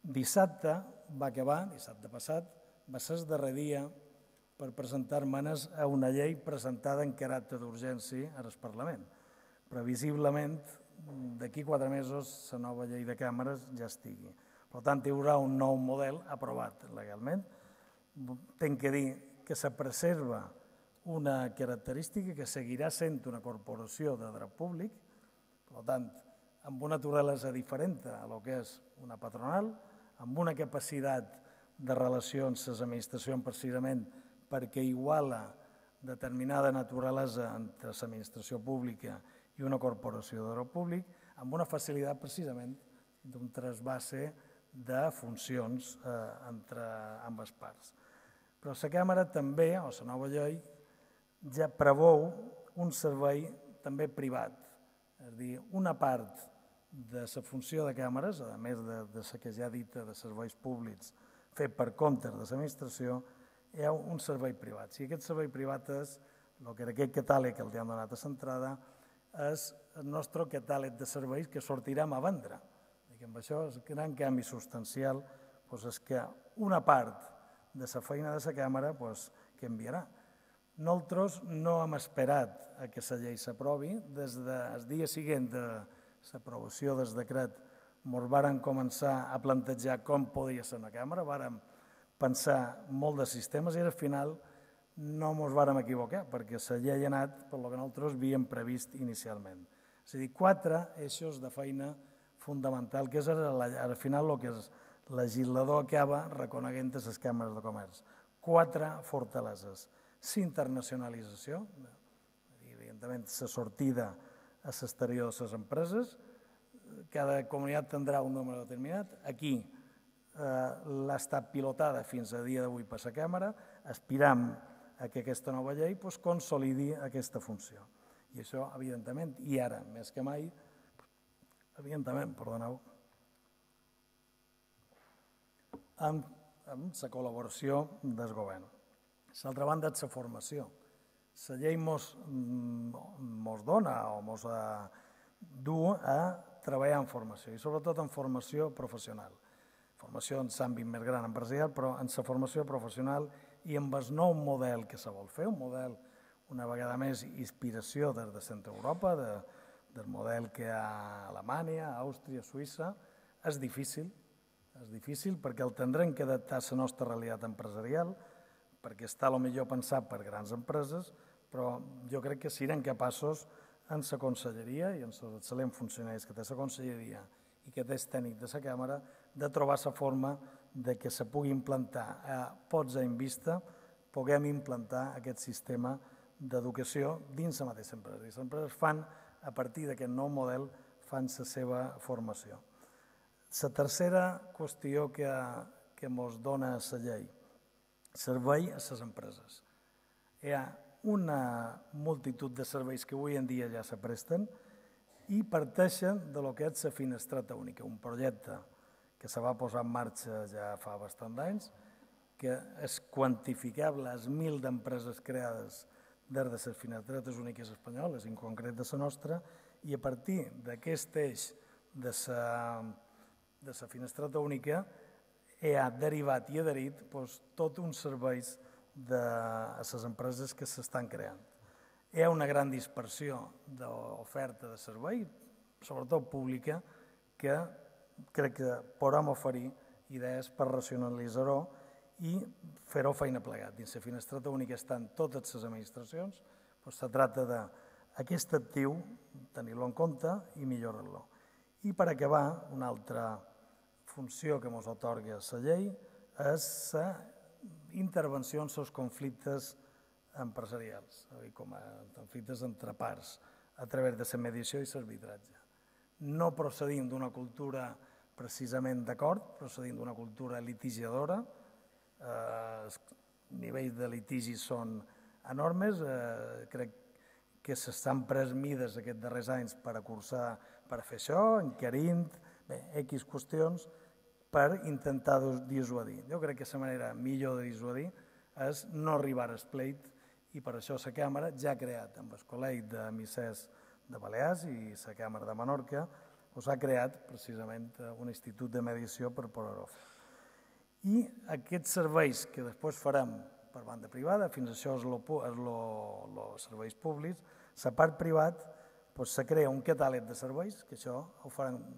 Dissabte va acabar, dissabte passat, va ser el darrer dia per presentar esmenes a una llei presentada en caràcter d'urgència al Parlament. Previsiblement, d'aquí 4 mesos, la nova llei de càmeres ja estigui. Per tant, hi haurà un nou model aprovat legalment. Tenc que dir que se preserva una característica que seguirà sent una corporació de dret públic, per tant, amb una naturalesa diferent a lo que és una patronal, amb una capacitat de relacions amb les administracions precisament perquè iguala determinada naturalesa entre l'administració pública i una corporació de dret públic, amb una facilitat precisament d'un trasbase de funcions entre ambes parts. Però la Càmera també, o la nova llei, ja preveu un servei també privat. És a dir, una part de la funció de càmeres, a més de la que ja he dit de serveis públics fet per compte de l'administració, hi ha un servei privat. Si aquest servei privat és el que d'aquest catàleg que els hem donat a l'entrada, és el nostre catàleg de serveis que sortirem a vendre. I amb això el gran canvi substancial és que una part de la feina de la Càmera canviarà. Nosaltres no hem esperat que la llei s'aprovi. Des del dia següent de l'aprovació del decret ens varen començar a plantejar com podia ser una Càmera, vàrem pensar molt de sistemes i al final no ens vàrem equivocar perquè la llei ha anat per el que nosaltres havíem previst inicialment. És a dir, 4 eixos de feina fonamental, que és al final el que el legislador acaba reconeguent a les càmeres de comerç. 4 fortaleses. S'internacionalització, evidentment la sortida a l'exterior de les empreses, cada comunitat tindrà un número determinat. Aquí l'ha estat pilotada fins a dia d'avui per la Càmera, aspiram a que aquesta nova llei consolidi aquesta funció. I això, evidentment, i ara, més que mai, amb la col·laboració del govern. L'altra banda és la formació. La llei ens dona o ens du a treballar en formació i sobretot en formació professional. Formació en l'àmbit més gran empresarial, però en la formació professional i amb el nou model que se vol fer, un model, una vegada més, inspiració des de Centre Europa, del model que hi ha a Alemanya, Àustria, Suïssa. És difícil perquè el tindrem que adaptar a la nostra realitat empresarial, perquè està potser pensat per grans empreses, però jo crec que serem capaços en la conselleria i en els excel·lents funcionaris que té la conselleria i que té el tècnic de la Càmera, de trobar la forma que se pugui implantar a pots en vista, puguem implantar aquest sistema d'educació dins la mateixa empresa. Les empreses fan, a partir d'aquest nou model, fan la seva formació. La tercera qüestió que ens dona la llei, servei a les empreses. Hi ha una multitud de serveis que avui en dia ja se presten i parteixen de lo que és la finestreta única, un projecte que se va posar en marxa ja fa bastant d'anys, que és quantificable als 1.000 d'empreses creades des de les finestretes úniques espanyoles, en concret de la nostra, i a partir d'aquest eix de la finestreta única ha derivat i adherit tot uns serveis a les empreses que s'estan creant. Hi ha una gran dispersió d'oferta de servei, sobretot pública, que crec que podem oferir idees per racionalitzar-ho i fer-ho feina plegat. Dins la finestreta única estan totes les administracions, se tracta d'aquest actiu, tenir-lo en compte i millorar-lo. I per acabar, una altra funció que ens atorga la llei és la intervenció en els conflictes empresarials, com a conflictes entre parts, a través de la mediació i l'arbitratge. No procedim d'una cultura precisament d'acord, procedim d'una cultura litigiadora, els nivells de litigi són enormes, crec que s'estan pres mides aquests darrers anys per acursar, per fer això, encarint, X qüestions, per intentar dissuadir. Jo crec que la manera millor de dissuadir és no arribar al pleit i per això la Càmera ja ha creat, amb el Col·legi d'Emissers de Balears i la Càmera de Menorca, ha creat precisament un institut de mediació per poder-ho fer. I aquests serveis que després farem per banda privada, fins això és els serveis públics, la part privada se crea un catàleg de serveis, que això ho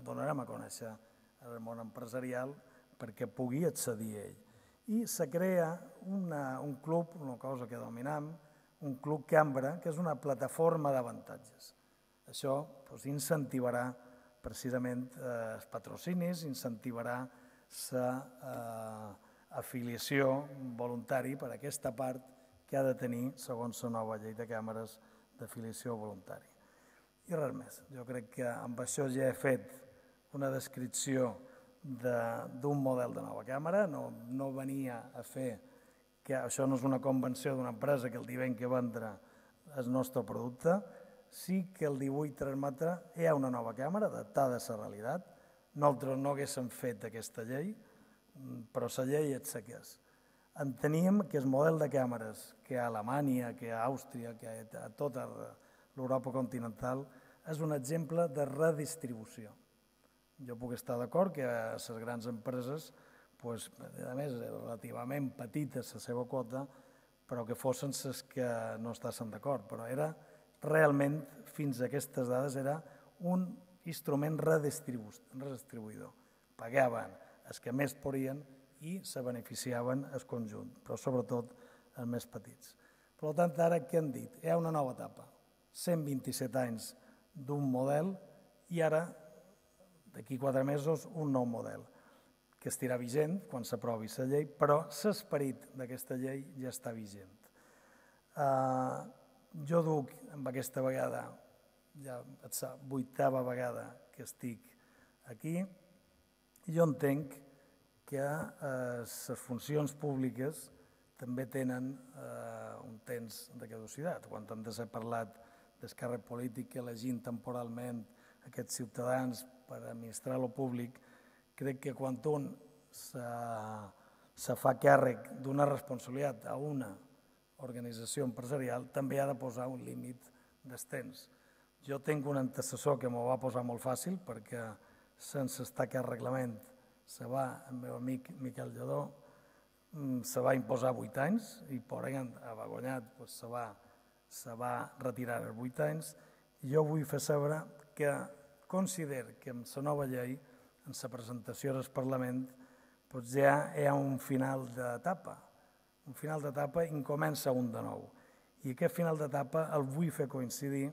donarem a conèixer al món empresarial perquè pugui accedir a ell. I se crea un club, una cosa que dominam, un club Cambra, que és una plataforma d'avantatges. Això incentivarà precisament els patrocinis, incentivarà l'afiliació voluntària per a aquesta part que ha de tenir, segons la nova llei de càmeres, d'afiliació voluntària. I res més. Jo crec que amb això ja he fet una descripció d'un model de nova càmera. No venia a fer que això no és una convenció d'una empresa que el dia que vendre el nostre producte. Sí que el 18 transmetre hi ha una nova càmera adaptada a la realitat. Nosaltres no haguéssim fet aquesta llei, però la llei és la que és. Enteníem que el model de càmeres que hi ha a Alemanya, que hi ha a Àustria, que hi ha a tota l'Europa continental, és un exemple de redistribució. Jo puc estar d'acord que les grans empreses, a més, relativament petites la seva quota, però que fossin les que no estassin d'acord. Però era realment, fins a aquestes dades, era un instrument redistribuïdor. Pagaven els que més podien i se beneficiaven el conjunt, però sobretot els més petits. Per tant, ara què han dit? Hi ha una nova etapa, 127 anys d'un model i ara, d'aquí 4 mesos, un nou model, que estirà vigent quan s'aprovi la llei, però l'esperit d'aquesta llei ja està vigent. Jo duc, amb aquesta vegada, ja és la 8ª vegada que estic aquí, i jo entenc que les funcions públiques també tenen un temps de caducitat. Quan hem de ser parlat d'esquerra política, elegint temporalment aquests ciutadans per administrar el públic, crec que quan un se fa càrrec d'una responsabilitat a una organització empresarial, també ha de posar un límit dels temps. Jo tinc un antecessor que m'ho va posar molt fàcil perquè sense estar aquest reglament se va, el meu amic Miquel Lledó, se va imposar 8 anys i per ell ha guanyat, se va retirar els 8 anys. Jo vull fer saber que considero que amb la nova llei, en la presentació al Parlament, ja hi ha un final d'etapa. Un final d'etapa i en comença un de nou. I aquest final d'etapa el vull fer coincidir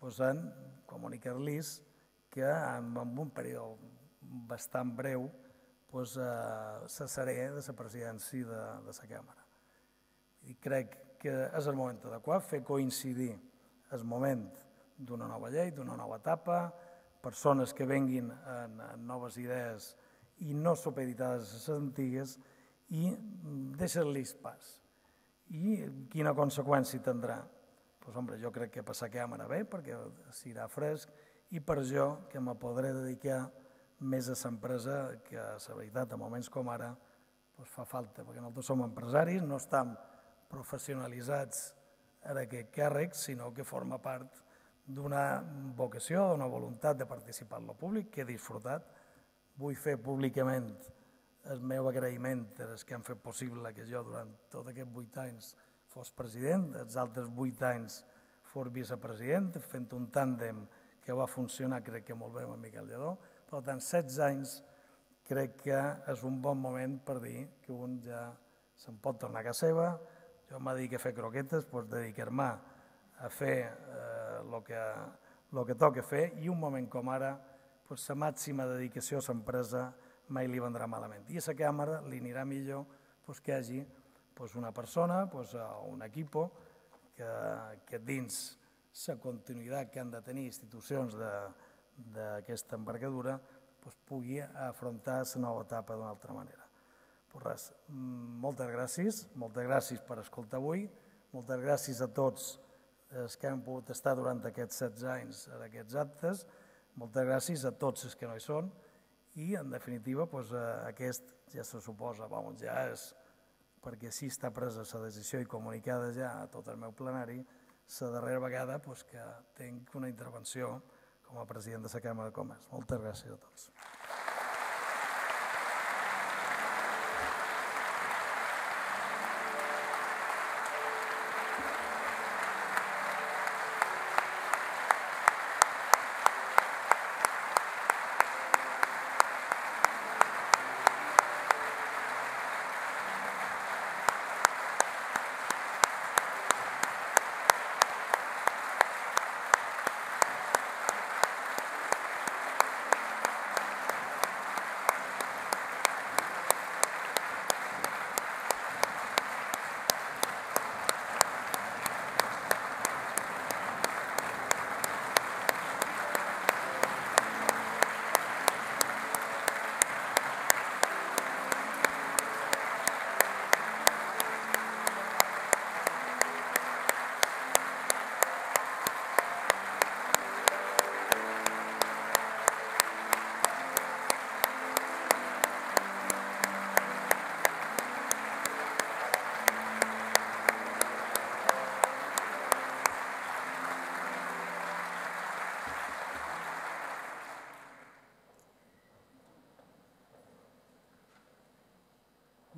en comunicar-los que en un període bastant breu cessaré de la presidència de la Càmera. I crec que és el moment adequat fer coincidir el moment d'una nova llei, d'una nova etapa, persones que venguin amb noves idees i no supeditades a les antigues i deixar-los pas. I quina conseqüència tindrà? Jo crec que per la Càmera bé, perquè serà fresc, i per jo, que me podré dedicar més a l'empresa, que a la veritat, en moments com ara, fa falta, perquè nosaltres som empresaris, no estem professionalitzats en aquest càrrec, sinó que forma part d'una vocació, d'una voluntat de participar en el públic, que he disfrutat. Vull fer públicament el meu agraïment als que han fet possible que jo durant tots aquests 8 anys fos president, els altres 8 anys fos vicepresident, fent un tàndem que va funcionar, crec que molt bé, amb Miquel Lledó. Per tant, 16 anys crec que és un bon moment per dir que un ja se'n pot tornar a casa seva. Jo em dedico a fer croquetes, dedicar-me a fer el que toca fer, i un moment com ara, la màxima dedicació a l'empresa mai li vendrà malament. I a la Càmera li anirà millor que hi hagi una persona o un equip que dins la continuïtat que han de tenir institucions d'aquesta envergadura pugui afrontar la nova etapa d'una altra manera. Moltes gràcies per escoltar avui, moltes gràcies a tots els que han pogut estar durant aquests 16 anys en aquests actes, moltes gràcies a tots els que no hi són i, en definitiva, aquest ja se suposa, ja és perquè així està presa la decisió i comunicada ja a tot el meu plenari, la darrera vegada que tinc una intervenció com a president de la Cambra de Comerç. Moltes gràcies a tots.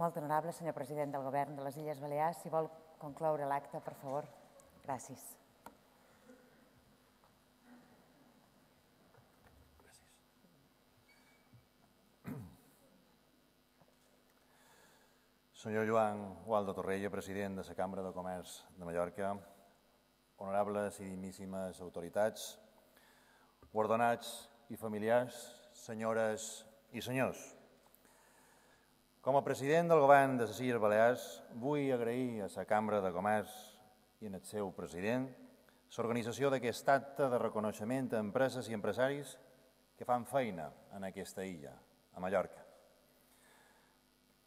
Molt honorable senyor president del Govern de les Illes Balears, si vol concloure l'acte, per favor. Gràcies. Senyor Joan Gualdo Torrella, president de la Cambra de Comerç de Mallorca, honorables i digníssimes autoritats, guardonats i familiars, senyores i senyors. Com a president del Govern de les Illes Balears, vull agrair a la Cambra de Comerç i al seu president l'organització d'aquest acte de reconeixement a empreses i empresaris que fan feina en aquesta illa, a Mallorca.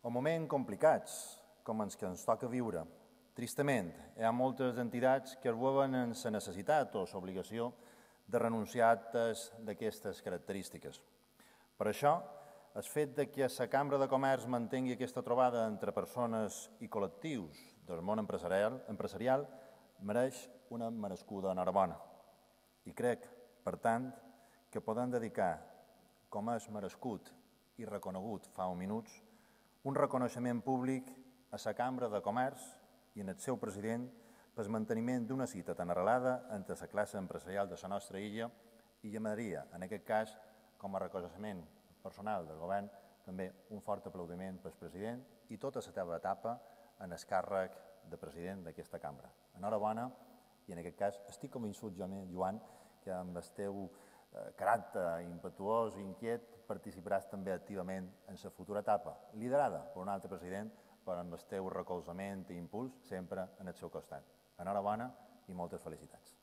En moments complicats, com els que ens toca viure, tristament, hi ha moltes entitats que es veuen en la necessitat o l'obligació de renunciar a actes d'aquestes característiques. Per això, el fet que la Cambra de Comerç mantingui aquesta trobada entre persones i col·lectius del món empresarial mereix una merescuda enhorabona. I crec, per tant, que podem dedicar, com és merescut i reconegut fa uns minuts, un reconeixement públic a la Cambra de Comerç i al seu president pel manteniment d'una cita tan arrelada entre la classe empresarial de la nostra illa i llamaria, en aquest cas, com a reconeixement personal del govern, també un fort aplaudiment pel president i tota la teva etapa en el càrrec de president d'aquesta cambra. Enhorabona i en aquest cas estic convençut, Joan, que amb el teu caràcter impetuós i inquiet participaràs també activament en la futura etapa, liderada per un altre president, però amb el teu recolzament i impuls sempre en el seu costat. Enhorabona i moltes felicitats.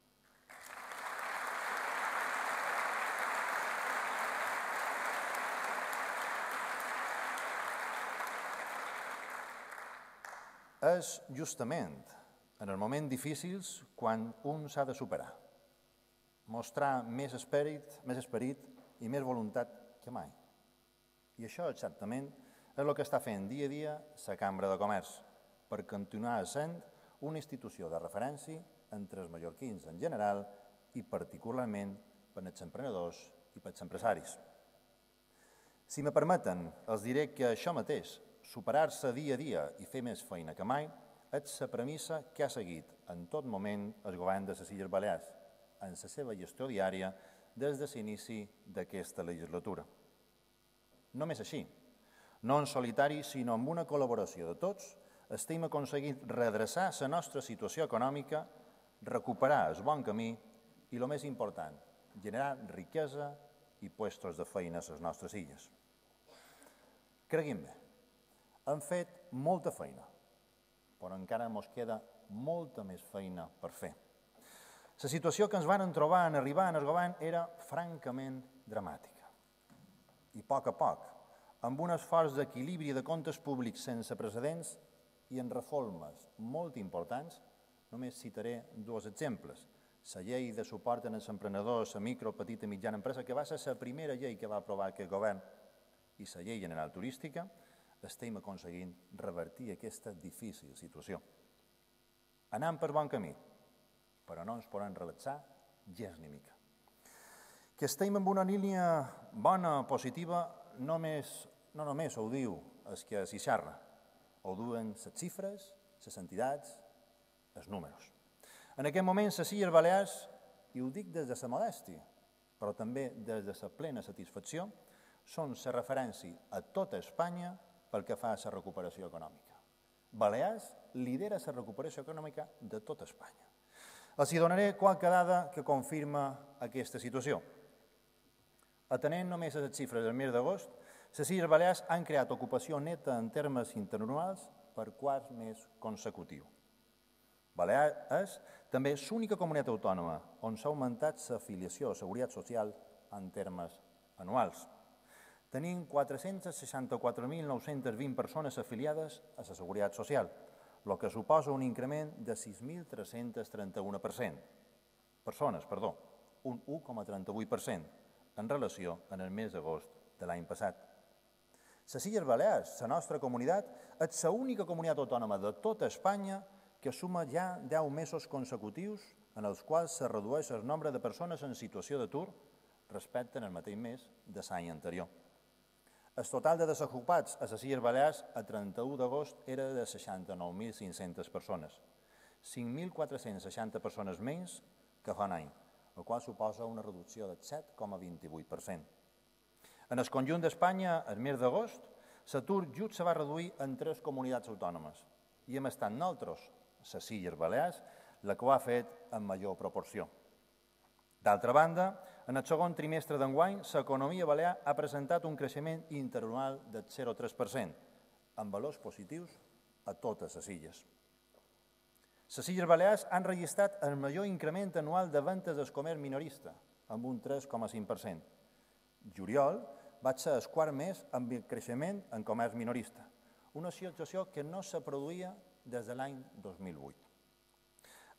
És justament en els moments difícils quan un s'ha de superar, mostrar més esperit i més voluntat que mai. I això exactament és el que està fent dia a dia la Cambra de Comerç per continuar sent una institució de referència entre els mallorquins en general i particularment per als emprenedors i per als empresaris. Si me permeten, els diré que això mateix, superar-se dia a dia i fer més feina que mai, és la premissa que ha seguit en tot moment el govern de les Illes Balears en la seva gestió diària des de l'inici d'aquesta legislatura. Només així, no en solitari, sinó amb una col·laboració de tots, estem aconseguint redreçar la nostra situació econòmica, recuperar el bon camí i, el més important, generar riquesa i llocs de feina a les nostres illes. Creguin-me, hem fet molta feina, però encara ens queda molta més feina per fer. La situació que ens van trobar en arribar en el govern era francament dramàtica. I a poc, amb un esforç d'equilibri de comptes públics sense precedents i en reformes molt importants, només citaré dos exemples. La llei de suport als emprenedors, a micro, petita i mitjana empresa, que va ser la primera llei que va aprovar aquest govern, i la llei general turística, estem aconseguint revertir aquesta difícil situació. Anem per bon camí, però no ens podem relaxar gens ni mica. Que estem en una línia bona, positiva, no només ho diu el que s'hi xerra, ho diuen les xifres, les entitats, els números. En aquest moment, les Illes Balears, i ho dic des de la modèstia, però també des de la plena satisfacció, són la referència a tota Espanya pel que fa a la recuperació econòmica. Balears lidera la recuperació econòmica de tota Espanya. Els donaré qualque dada que confirma aquesta situació. Atenent només a les xifres del mes d'agost, les Illes Balears han creat ocupació neta en termes interanuals per quart mes consecutiu. Balears és també l'única comunitat autònoma on s'ha augmentat l'afiliació a la Seguretat Social en termes anuals. Tenim 464.920 persones afiliades a la Seguretat Social, el que suposa un increment de 6.331 persones, un 1,38% en relació amb el mes d'agost de l'any passat. Les Illes Balears, la nostra comunitat, és l'única comunitat autònoma de tota Espanya que suma ja 10 mesos consecutius en els quals se redueix el nombre de persones en situació d'atur respecte al mateix mes de l'any anterior. El total de desocupats a les Illes Balears a 31 d'agost era de 69.500 persones, 5.460 persones menys que fa un any, el qual suposa una reducció del 7,28%. En el conjunt d'Espanya, el mes d'agost, l'atur just se va reduir en 3 comunitats autònomes i hem estat nosaltres, les Illes Balears, la que ho ha fet en major proporció. D'altra banda, en el segon trimestre d'enguany, l'economia balear ha presentat un creixement interanual del 0,3%, amb valors positius a totes les illes. Les Illes Balears han registrat el major increment anual de vendes del comerç minorista, amb un 3,5%. Juliol va ser el quart mes amb creixement en comerç minorista, una situació que no se produïa des de l'any 2008.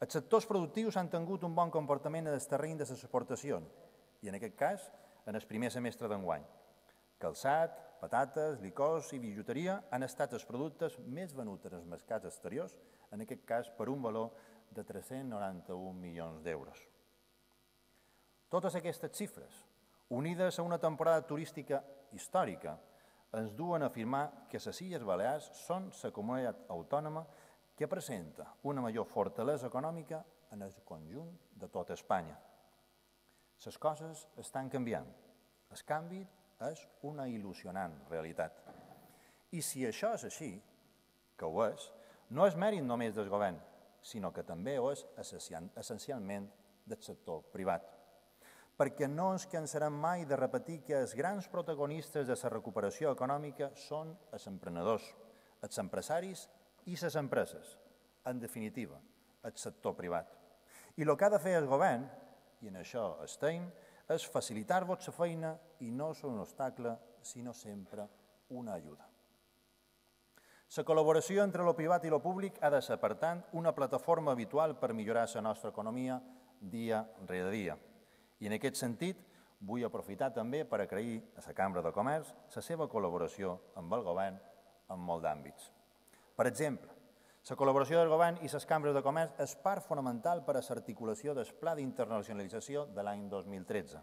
Els sectors productius han tingut un bon comportament en el terreny de les exportacions i, en aquest cas, en el primer semestre d'enguany. Calçat, patates, licors i bijuteria han estat els productes més venuts en els mercats exteriors, en aquest cas per un valor de 391 milions d'euros. Totes aquestes xifres, unides a una temporada turística històrica, ens duen a afirmar que les Illes Balears són la comunitat autònoma que presenta una major fortalesa econòmica en el conjunt de tota Espanya. Les coses estan canviant. El canvi és una il·lusionant realitat. I si això és així, que ho és, no és mèrit només del govern, sinó que també ho és essencialment del sector privat. Perquè no ens cansarem mai de repetir que els grans protagonistes de la recuperació econòmica són els emprenedors, els empresaris i les empreses, en definitiva, el sector privat. I el que ha de fer el govern, i en això estem, és facilitar-vos la feina i no és un obstacle, sinó sempre una ajuda. La col·laboració entre el privat i el públic ha de ser, per tant, una plataforma habitual per millorar la nostra economia dia rere dia. I en aquest sentit, vull aprofitar també per agrair a la Cambra de Comerç la seva col·laboració amb el govern en molts d'àmbits. Per exemple, la col·laboració del govern i les cambres de comerç és part fonamental per a l'articulació del Pla d'Internacionalització de l'any 2013,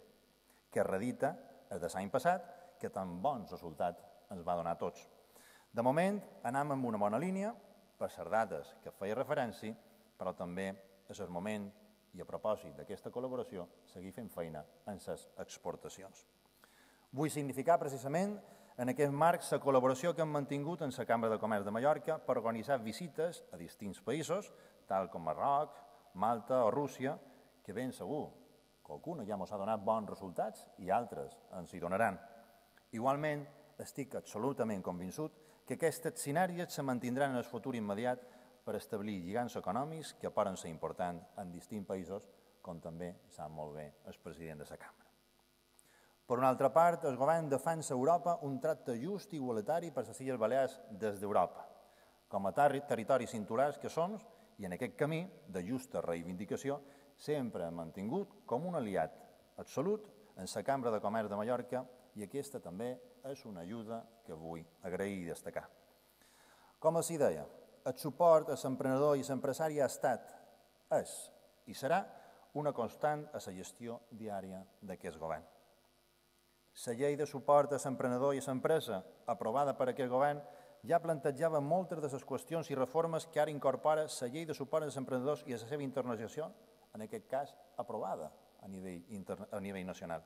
que redita el de l'any passat, que tan bons resultats ens va donar a tots. De moment, anem en una bona línia, per les dades que feia referència, però també és el moment, i a propòsit d'aquesta col·laboració, seguir fent feina en les exportacions. Vull significar precisament en aquest marc la col·laboració que hem mantingut en la Cambra de Comerç de Mallorca per organitzar visites a distints països, tal com Marroc, Malta o Rússia, que ben segur que alguna ja ens ha donat bons resultats i altres ens hi donaran. Igualment, estic absolutament convençut que aquestes sinergies se mantindran en el futur immediat per establir lligams econòmics que poden ser importants en distints països, com també sap molt bé el president de la Cambra. Per una altra part, el govern defensa a Europa un tracte just i igualitari per les Illes Balears des d'Europa, com a territoris insulars que són, i en aquest camí de justa reivindicació, sempre hem mantingut com un aliat absolut en la Cambra de Comerç de Mallorca i aquesta també és una ajuda que vull agrair i destacar. Com els deia, el suport a l'emprenedor i l'empresari ha estat, és i serà una constant a la gestió diària d'aquest govern. La llei de suport a l'emprenedor i a l'empresa, aprovada per aquest govern, ja plantejava moltes de les qüestions i reformes que ara incorpora la llei de suport als emprenedors i a la seva internacionalització, en aquest cas aprovada a nivell nacional.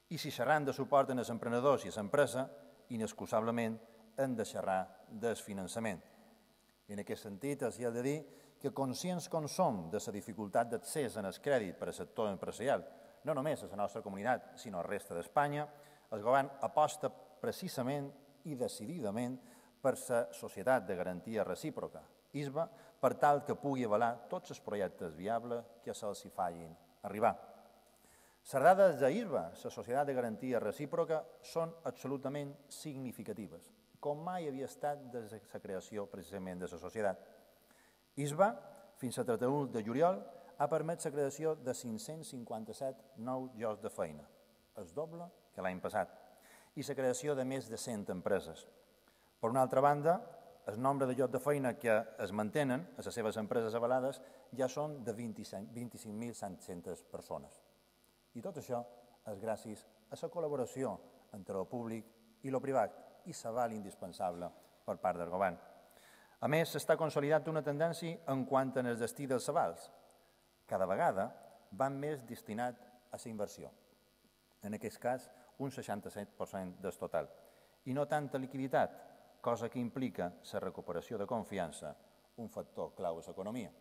I si xerram de suport als emprenedors i a l'empresa, inexcusablement hem de xerrar del finançament. I en aquest sentit, els he de dir que conscients com som de la dificultat d'accés en el crèdit per al sector empresarial, no només a la nostra comunitat, sinó a la resta d'Espanya, el govern aposta precisament i decididament per la Societat de Garantia Recíproca, ISBA, per tal que pugui avalar tots els projectes viables que se'ls hi facin arribar. Les dades d'ISBA, la Societat de Garantia Recíproca, són absolutament significatives, com mai havia estat des de la creació precisament de la societat. ISBA, fins al 31 de juliol, ha permès la creació de 557 nous llocs de feina, el doble que l'any passat, i la creació de més de 100 empreses. Per una altra banda, el nombre de llocs de feina que es mantenen a les seves empreses avalades ja són de 25.700 persones. I tot això és gràcies a la col·laboració entre el públic i el privat i l'aval indispensable per part del govern. A més, s'està consolidant una tendència en quant al destí dels avals. Cada vegada van més destinat a la inversió. En aquest cas, un 67% del total. I no tanta liquiditat, cosa que implica la recuperació de confiança, un factor clau a l'economia.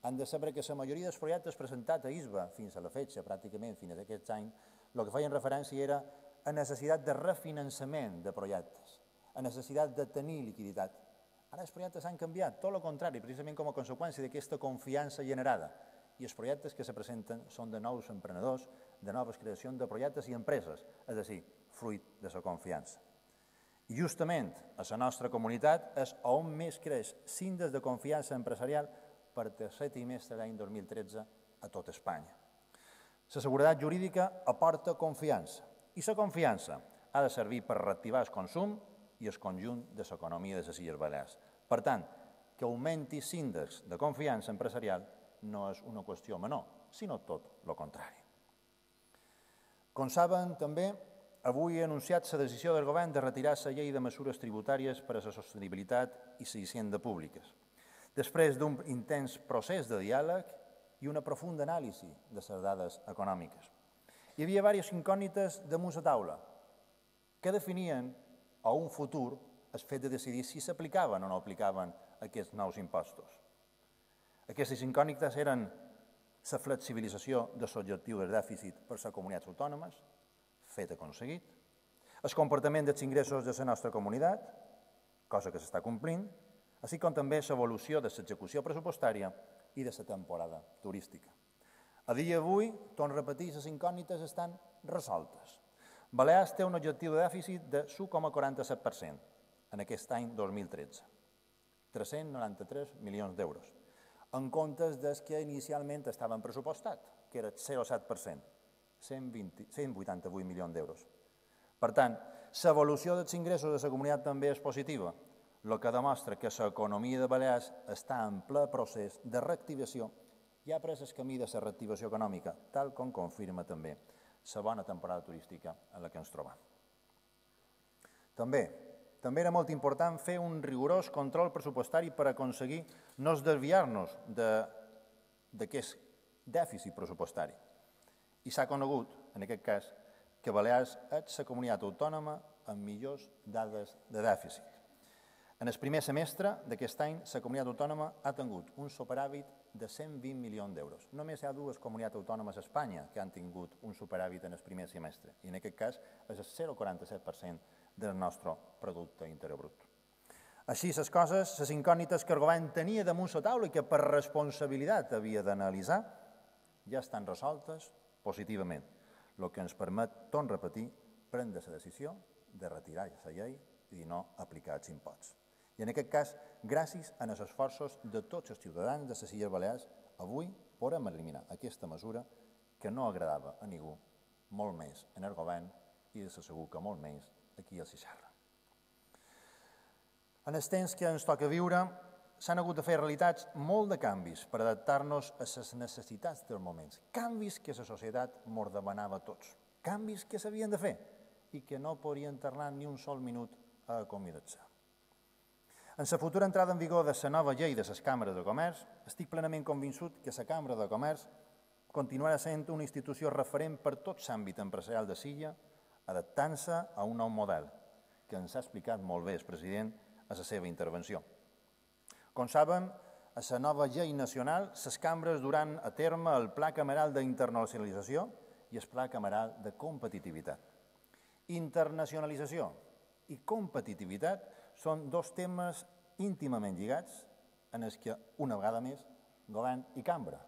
Han de saber que la majoria dels projectes presentats a ISBA fins a la fetge, pràcticament fins a aquest any, el que feien referència era a necessitat de refinançament de projectes, a necessitat de tenir liquiditat. Ara els projectes han canviat, tot el contrari, precisament com a conseqüència d'aquesta confiança generada. I els projectes que se presenten són de nous emprenedors, de noves creacions de projectes i empreses, és a dir, fruit de la confiança. I justament a la nostra comunitat és on més creix l'índex de confiança empresarial per tercer trimestre l'any 2013 a tot Espanya. La seguretat jurídica aporta confiança i la confiança ha de servir per reactivar el consum i el conjunt de l'economia de les Illes Balears. Per tant, que augmenti l'índex de confiança empresarial no és una qüestió menor, sinó tot el contrari. Com saben, també, avui he anunciat la decisió del govern de retirar la llei de mesures tributàries per a la sostenibilitat i la hisenda públiques, després d'un intens procés de diàleg i una profunda anàlisi de les dades econòmiques. Hi havia diverses incògnites damunt la taula que definien a un futur el fet de decidir si s'aplicaven o no aplicaven aquests nous impostos. Aquestes incògnites eren la flexibilització de l'objectiu del dèficit per les comunitats autònomes, fet aconseguit, el comportament dels ingressos de la nostra comunitat, cosa que s'està complint, així com també l'evolució de l'execució pressupostària i de la temporada turística. A dia d'avui, torno a repetir, les incògnites estan resoltes. Balears té un objectiu de dèficit de 1,47% en aquest any 2013, 393 milions d'euros, en comptes dels que inicialment estaven pressupostats, que era 0,7%, 188 milions d'euros. Per tant, l'evolució dels ingressos de la comunitat també és positiva, el que demostra que l'economia de Balears està en ple procés de reactivació i ha pres el camí de la reactivació econòmica, tal com confirma també la bona temporada turística en la que ens trobam. També era molt important fer un rigorós control pressupostari per aconseguir no desviar-nos d'aquest dèficit pressupostari. I s'ha conegut, en aquest cas, que Balears és la comunitat autònoma amb millors dades de dèficit. En el primer semestre d'aquest any, la comunitat autònoma ha tingut un superàvit de 120 milions d'euros. Només hi ha dues comunitats autònomes a Espanya que han tingut un superàvit en el primer semestre, i en aquest cas és el 0,47% del nostre producte interior brut. Així, les coses, les incògnites que el govern tenia damunt la taula i que per responsabilitat havia d'analitzar, ja estan resoltes positivament, el que ens permet, torno a repetir, prendre la decisió de retirar la llei i no aplicar els imposts. I en aquest cas, gràcies als esforços de tots els ciutadans de les Illes Balears, avui podem eliminar aquesta mesura que no agradava a ningú, molt més en el govern i de segur que molt menys aquí a Sixarra. En els temps que ens toca viure, s'han hagut de fer realitats molt de canvis per adaptar-nos a les necessitats dels moments. Canvis que la societat mos demanava a tots. Canvis que s'havien de fer i que no podien tornar ni un sol minut a acomiadar-se. En la futura entrada en vigor de la nova llei de les càmeres de comerç, estic plenament convençut que la Cambra de Comerç continuarà sent una institució referent per tot l'àmbit empresarial de Silla, adaptant-se a un nou model, que ens ha explicat molt bé el president a la seva intervenció. Com saben, a la nova llei nacional, les cambres duran a terme el Pla Cameral d'Internacionalització i el Pla Cameral de Competitivitat. Internacionalització i competitivitat són dos temes íntimament lligats en els que, una vegada més, govern i cambra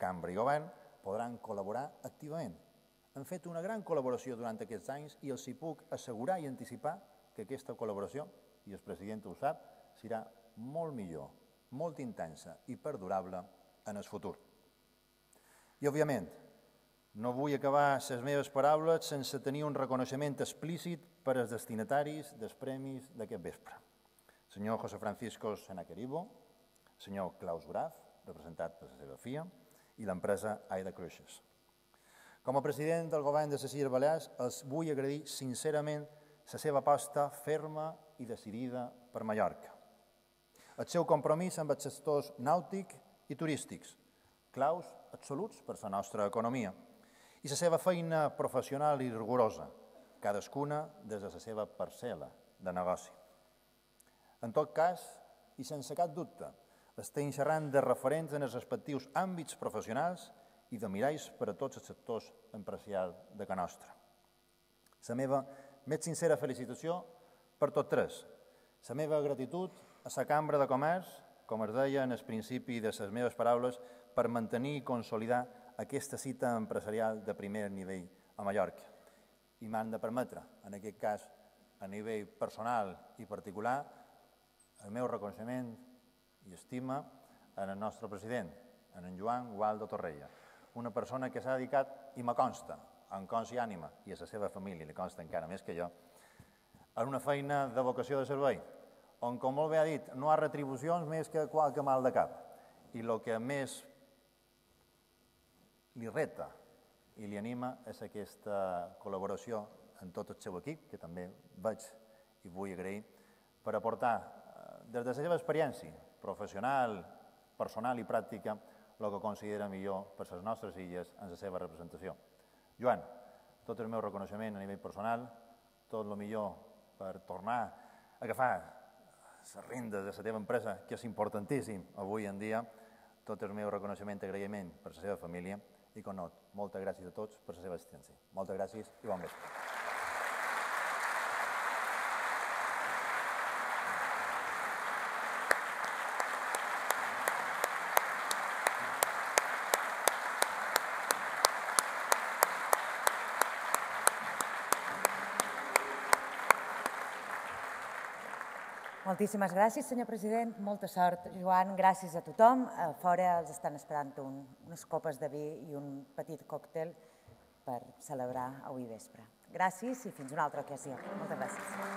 i govern podran col·laborar activament. Han fet una gran col·laboració durant aquests anys i els hi puc assegurar i anticipar que aquesta col·laboració, i el president ho sap, serà molt millor, molt intensa i perdurable en el futur. I, òbviament, no vull acabar les meves paraules sense tenir un reconeixement explícit per als destinataris dels premis d'aquest vespre. El senyor José Francisco Senaqueribo, el senyor Klaus Graf, representat per la seva FIA, i l'empresa Aida Cruixes. Com a president del govern de les Illes Balears, els vull agrair sincerament la seva aposta ferma i decidida per Mallorca. El seu compromís amb els sectors nàutic i turístics, claus absoluts per la nostra economia, i la seva feina professional i rigorosa, cadascuna des de la seva parcel·la de negoci. En tot cas, i sense cap dubte, estem xerrant de referents en els respectius àmbits professionals i de miralls per a tots els sectors empresarials de Can Nostra. La meva més sincera felicitació per tots tres. La meva gratitud a la Cambra de Comerç, com es deia en el principi de les meves paraules, per mantenir i consolidar aquesta cita empresarial de primer nivell a Mallorca. I m'han de permetre, en aquest cas, a nivell personal i particular, el meu reconeixement i estima en el nostre president, en Joan Gualdo Torrella, una persona que s'ha dedicat, i me consta, en cos i ànima, i a la seva família, li consta encara més que jo, a una feina de vocació de servei, on, com molt bé ha dit, no hi ha retribucions més que qualque mal de cap. I el que més li reta i li anima és aquesta col·laboració en tot el seu equip, que també veig i vull agrair, per aportar, des de la seva experiència professional, personal i pràctica, el que considera millor per les nostres illes en la seva representació. Joan, tot el meu reconeixement a nivell personal, tot el millor per tornar a agafar les rendes de la teva empresa, que és importantíssim avui en dia, tot el meu reconeixement i agraïment per la seva família i, com no, moltes gràcies a tots per la seva assistència. Moltes gràcies i bon vespre. Moltíssimes gràcies, senyor president. Molta sort, Joan. Gràcies a tothom. A fora els estan esperant unes copes de vi i un petit còctel per celebrar avui vespre. Gràcies i fins una altra ocasió. Moltes gràcies.